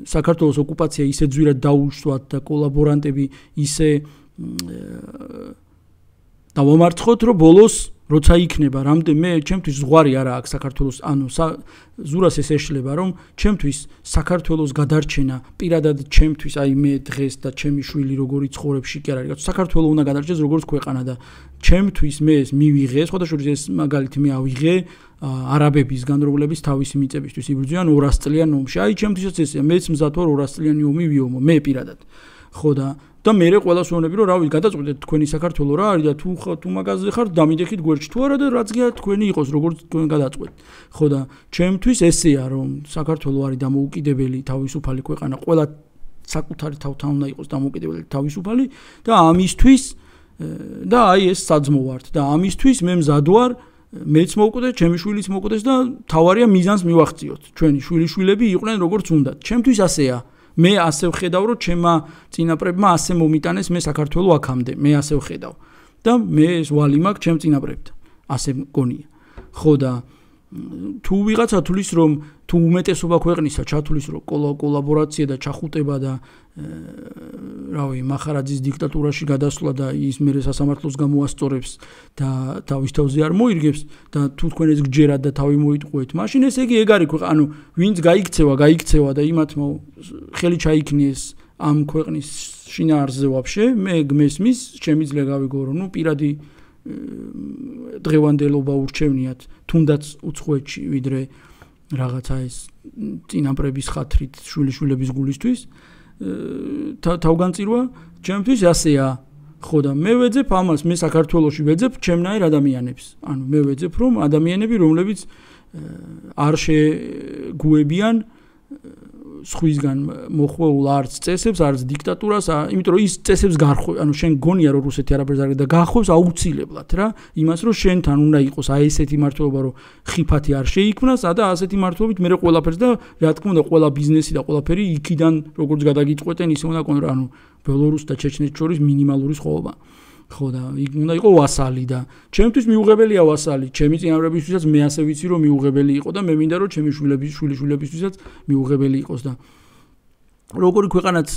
საქართველოს ოკუპაცია ისე ძვირად დაუშვათ და კოლაბორანტები ისე დავამარცხოთ რომ ბოლოს როცა იქნება რამდენ მე ჩემთვის ზღვარი არა აქვს საქართველოს ანუ ზურას ეს ეშლება რომ ჩემთვის საქართველოს გადარჩენა პირადად ჩემთვის აი მე დღეს და ჩემი შვილი როგორი ცხოვრებში კი არ არის საქართველოს უნდა გადარჩეს როგორც ქვეყანა და ჩემთვის მე ეს მივიღე სხვადასხვა ეს მაგალითი მე ავიღე არაბებისგან რომლების თავისი მიწებისთვის იბრძვიან ორას წლიან ომში აი ჩემთვისაც ესეა მეც მზად ვარ ორას წლიანი ომი ვიომო მე პირადად ხო და და მე ყველას ვუყურები რომ რავი გადაწყვეტეთ თქვენი საქართველო რა არის და თუ თუ მაგაზე ხართ დამიდეხით გვერდში თუ არა და რაც გია თქვენი იყოს როგორც თქვენ გადაწყვეტ ხო და ჩემთვის ესეა რომ საქართველო არის დამოუკიდებელი თავისუფალი ქვეყანა ყველა საკუთარი თავთან უნდა იყოს დამოუკიდებელი თავისუფალი და ამისთვის და აი ეს საძმო ვართ და ამისთვის მე მზად ვარ მეც მოვკვდე ჩემი შვილიც მოვკვდეს და თავარია მიზანს მივახციოთ ჩვენი შვილიშვილები იყვნენ როგორც უნდა ჩემთვის ასეა მე ასე ვხედავ რომ ჩემმა წინაპრებმა ასე მომიტანეს მე საქართველოს აქამდე მე ასე ვხედავ და მე ეს ვალი მაქვს ჩემ წინაპრებთან ასე მგონია ხო და თუ ვიღაცა თulis რომ თუ უმეტესობა ქვეყნისა ჩათulis რომ კოლაბორაცია და ჩახუტება და რავი მახარაძის დიქტატურაში გადასვლა და ის მერე სასამართლოს გამოასწორებს და თავის თავზე არ მოირგებს და თუ თქვენ ეს გჯერათ და თავი მოიტყუეთ მაშინ ესე იგი ეგ არის ანუ ვინც გაიქცევა გაიქცევა და იმათმა ხელი ჩაიქნიეს ამ ქვეყნის შინაარსზე ვაფშე მე გმესმის შემიძლია გავიგო რომ ნუ პირადი დღევანდელობა ურჩევნიათ თუნდაც უცხოეთში ვიდრე რაღაცა ეს წინაპრების ხათრით შვილიშვილების გულისთვის თავგანწირვა ჩემთვის ასეა ხო და მე ვეძებ ამას მე საქართველოში ვეძებ ჩემნაირ ადამიანებს ანუ მე ვეძებ რომ ადამიანები რომლებიც არ შეგუებიან სხვისგან მოხვეულ არც წესებს არც დიქტატურას იმიტომ რომ ის წესებს გარხვევ ანუ შენ გონია რომ რუსეთი არაფერს არ და გახვევს აუცილებლად რა იმას რომ შენთან უნდა იყოს აი ესეთი მართლობა რომ ხიფათი არ შეიქმნას და ასეთი მართლობით მე ყველაფერს და რა თქმა უნდა ყველა ბიზნესი და ყველაფერი იქიდან როგორც გადაგიწყვეტენ ისე უნდა კონტრა ანუ ბელორუს და ჩეჩნეთს შორის მინიმალური სხვაობა ხო და უნდა იყო ვასალი და ჩემთვის მიუღებელია ვასალი ჩემი წინაპრებისთვისაც მე ასე ვიცი რომ მიუღებელი იყო და მე მინდა რომ ჩემი შვილების შვილიშვილებისთვისაც მიუღებელი იყოს და როგორი ქვეყანაც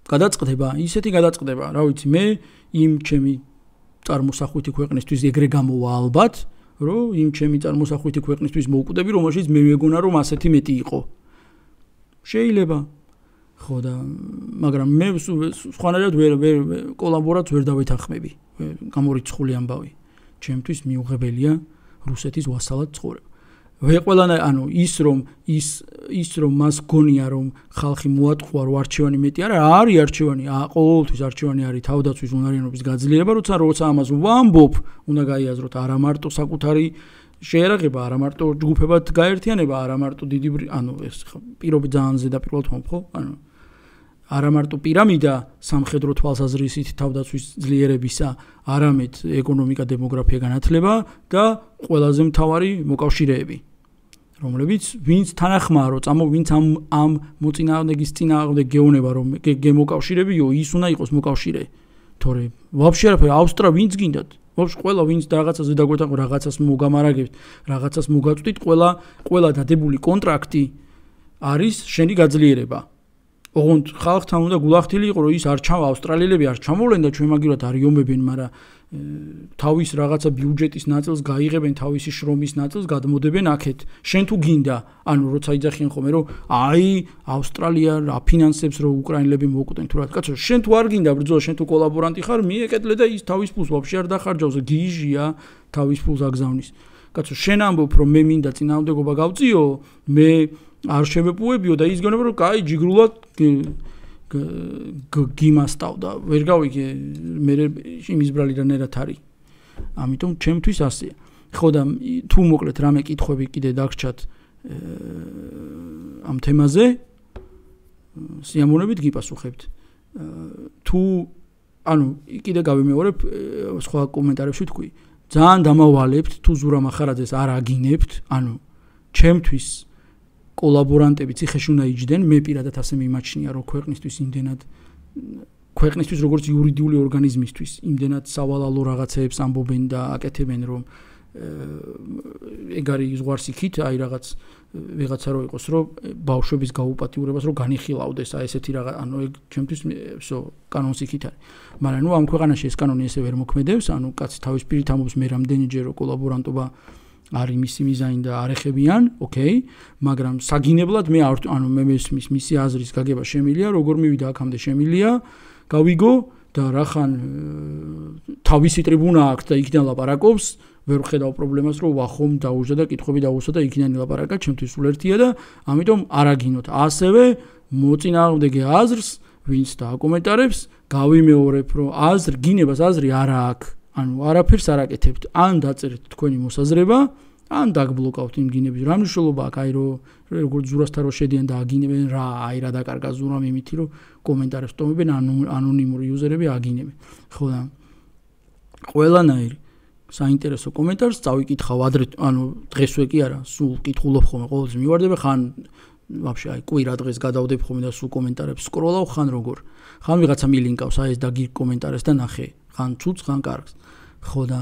გადაწყდება ისეთი გადაწყდება რა ვიცი მე იმ ჩემი წარმოსახვითი ქვეყნისთვის ეგრე გამოვა ალბათ რომ იმ ჩემი წარმოსახვითი ქვეყნისთვის მოვკვდები რომელშიც მე მეგონა რომ ასეთი მეტი იყო შეიძლება ხო და მაგრამ მე სხვანაირად ვერ კოლაბორაციას ვერ დავეთანხმები გამორიცხული ამბავი ჩემთვის მიუღებელია რუსეთის ვასალად ცხოვრება ვე ყველანა ანუ ის რომ ის ის რომ მას გონია რომ ხალხი მოატყუა რომ არჩევანი მეტი არა არის არჩევანი ყოველთვის არჩევანი არის თავდაცვის უნარიანობის გაძლიერება როცა როცა ამას ვამბობ უნდა გაიაზროთ არა მარტო საკუთარი შეერაღება არა მარტო ჯგუფებად გაერთიანება არა მარტო დიდი ანუ ეს პირობი ძალიან ზედაპირულად ვამბობ ხო ანუ არა მარტო პირამიდა სამხედრო თვალსაზრისით თავდაცვის ძლიერებისა არამედ ეკონომიკა დემოგრაფია განათლება და ყველაზე მთავარი მოკავშირეები რომლებიც ვინც თანახმაა რომ წამო ვინც ამ ამ მოწინააღმდეგის წინააღმდეგ გეონება რომ გემოკავშირებიო ის უნდა იყოს მოკავშირე თორე ვაფშე არაფერი ავსტრა ვინც გინდათ ვაფშე ყველა ვინც რაღაცაზე დაგვეთანხმო რაღაცას მოგამარაგებთ რაღაცას მოგაწვდით ყველა ყველა დადებული კონტრაქტი არის შენი გაძლიერება ოღონდ ხალხთან უნდა გულახდილი იყო რომ ის არ ჩავა ავსტრალიელები არ ჩამოვლენ და ჩვენ მაგივრად არიომებენ მაგრამ თავის რაღაცა ბიუჯეტის ნაწილს გაიღებენ თავისი შრომის ნაწილს გადმოდებენ აქეთ შენ თუ გინდა ანუ როცა იძახიან ხოლმე რომ აი ავსტრალია აფინანსებს რომ უკრაინელები მოუკვდნენ თუ რა კაცო შენ თუ არ გინდა ბრძოლა შენ თუ კოლაბორანტი ხარ მიეკეთლე და ის თავის ფულს ვაფშე არ დახარჯავს გიჟია თავის ფულს აგზავნის კაცო შენ ამბობ რომ მე მინდა წინააღმდეგობა გავწიო მე არ შემეპუებიო და ის გონება რომ კაი ჯიგრულად გიმასტავდა ვერ გავიგე მე იმის ბრალი რანერად არის ამიტომ ჩემთვის ასეა ხო და თუ მოკლედ რამე კითხვები კიდე დაგრჩათ ამ თემაზე სიამოვნებით გიპასუხებთ თუ ანუ კიდე გავიმეორებ სხვა კომენტარებში თქვი ძალიან დამავალებთ თუ ზურა მახარაძეს არ აგინებთ ანუ ჩემთვის კოლაბორანტები ციხეში უნდა იჯდნენ მე პირადად ასე მიმაჩნია რომ ქვეყნისთვის იმდენად ქვეყნისთვის როგორც იურიდიული ორგანიზმისთვის იმდენად სავალალო რაღაცეებს ამბობენ და აკეთებენ რომ ეგ არის ზღვარს იქით აი რაღაც ვიღაცა რო იყოს რომ ბავშვების გაუპატიურებას რომ განიხილავდეს აი ესეთი რაღაც ანუ ეგ ჩემთვის всё კანონს იქით არის მაგრამ ნუ ამ ქვეყანაში ეს კანონი ესე ვერ მოქმედებს ანუ კაცი თავის პირით ამბობს მე რამდენიჯერ რომ კოლაბორანტობა არის მისი მიზანი და არ ეხებიან, ოკეი, მაგრამ საგინებლად მე ანუ მე მესმის მისი აზრის გაგება შემილია, როგორ მივიდა აქამდე შემილია, გავიგო და რახან თავისი ტრიბუნა აქვს და იქიდან ლაპარაკობს, ვერ ვხედავ პრობლემას, რომ ვახომ დაუჯდა და კითხვები დავუსვა და იქიდან ლაპარაკა, ჩემთვის სულ ერთია და ამიტომ არ აგინოთ. ასევე მოწინააღმდეგე აზრს, ვინც დააკომენტარებს, გავიმეორებ, რომ აზრ გინებას აზრი არა აქვს. ანუ არაფერს არ აკეთებთ, ან დაწერეთ თქვენი მოსაზრება, ან დაგბლოკავთ იმ გინების. რა მნიშვნელობა აქვს, აი რომ როგორც ზურასთან რო შედიან და აგინებენ რა, აი რა დაკარგა ზურამ იმითი რომ კომენტარებს ტომებენ, ანონიმური იუზერები აგინებენ. ხო და ყველანაირი საინტერესო კომენტარს წავიკითხავ ადრე, ანუ დღესვე კი არა, სულ კითხულობ ხოლმე, ყოველთვის მივარდება, ხან ვაფშე აი კვირა დღეს გადავდებ ხოლმე და სულ კომენტარებს სკროლავ, ხან როგორ. ხან ვიღაცა მილინკავს, აი ეს და გიგ კომენტარებს და ნახე, ხან ცუც, ხან კარგს. ხო და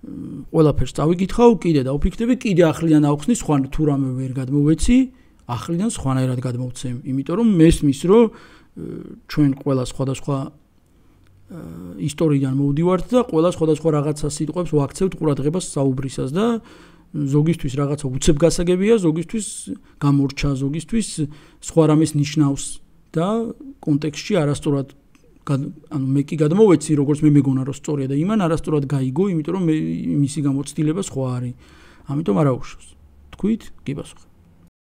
ყველაფერს წავიკითხავ, კიდე დავფიქრდები, კიდე ახლიდან ავხსნი, სხვა თუ რამე ვერ გადმოვეცი, ახლიდან სხვანაირად გადმოვცემ, იმიტომ რომ მესმის, რომ ჩვენ ყველა სხვადასხვა ისტორიიდან მოვდივართ და ყველა სხვადასხვა რაღაცა სიტყვებს ვაქცევთ ყურადღებას საუბრისას და ზოგისთვის რაღაცა უცებ გასაგებია, ზოგისთვის გამორჩა, ზოგისთვის სხვა რამეს ნიშნავს და კონტექსტში არასწორად ანუ მე კი გადმოვეცი, როგორც მე მეგონა რომ სწორია და იმან არასწორად გაიგო, იმიტომ რომ მისი გამოცდილება სხვა არის. ამიტომ არა უშავს. თქვით? კი პასუხი.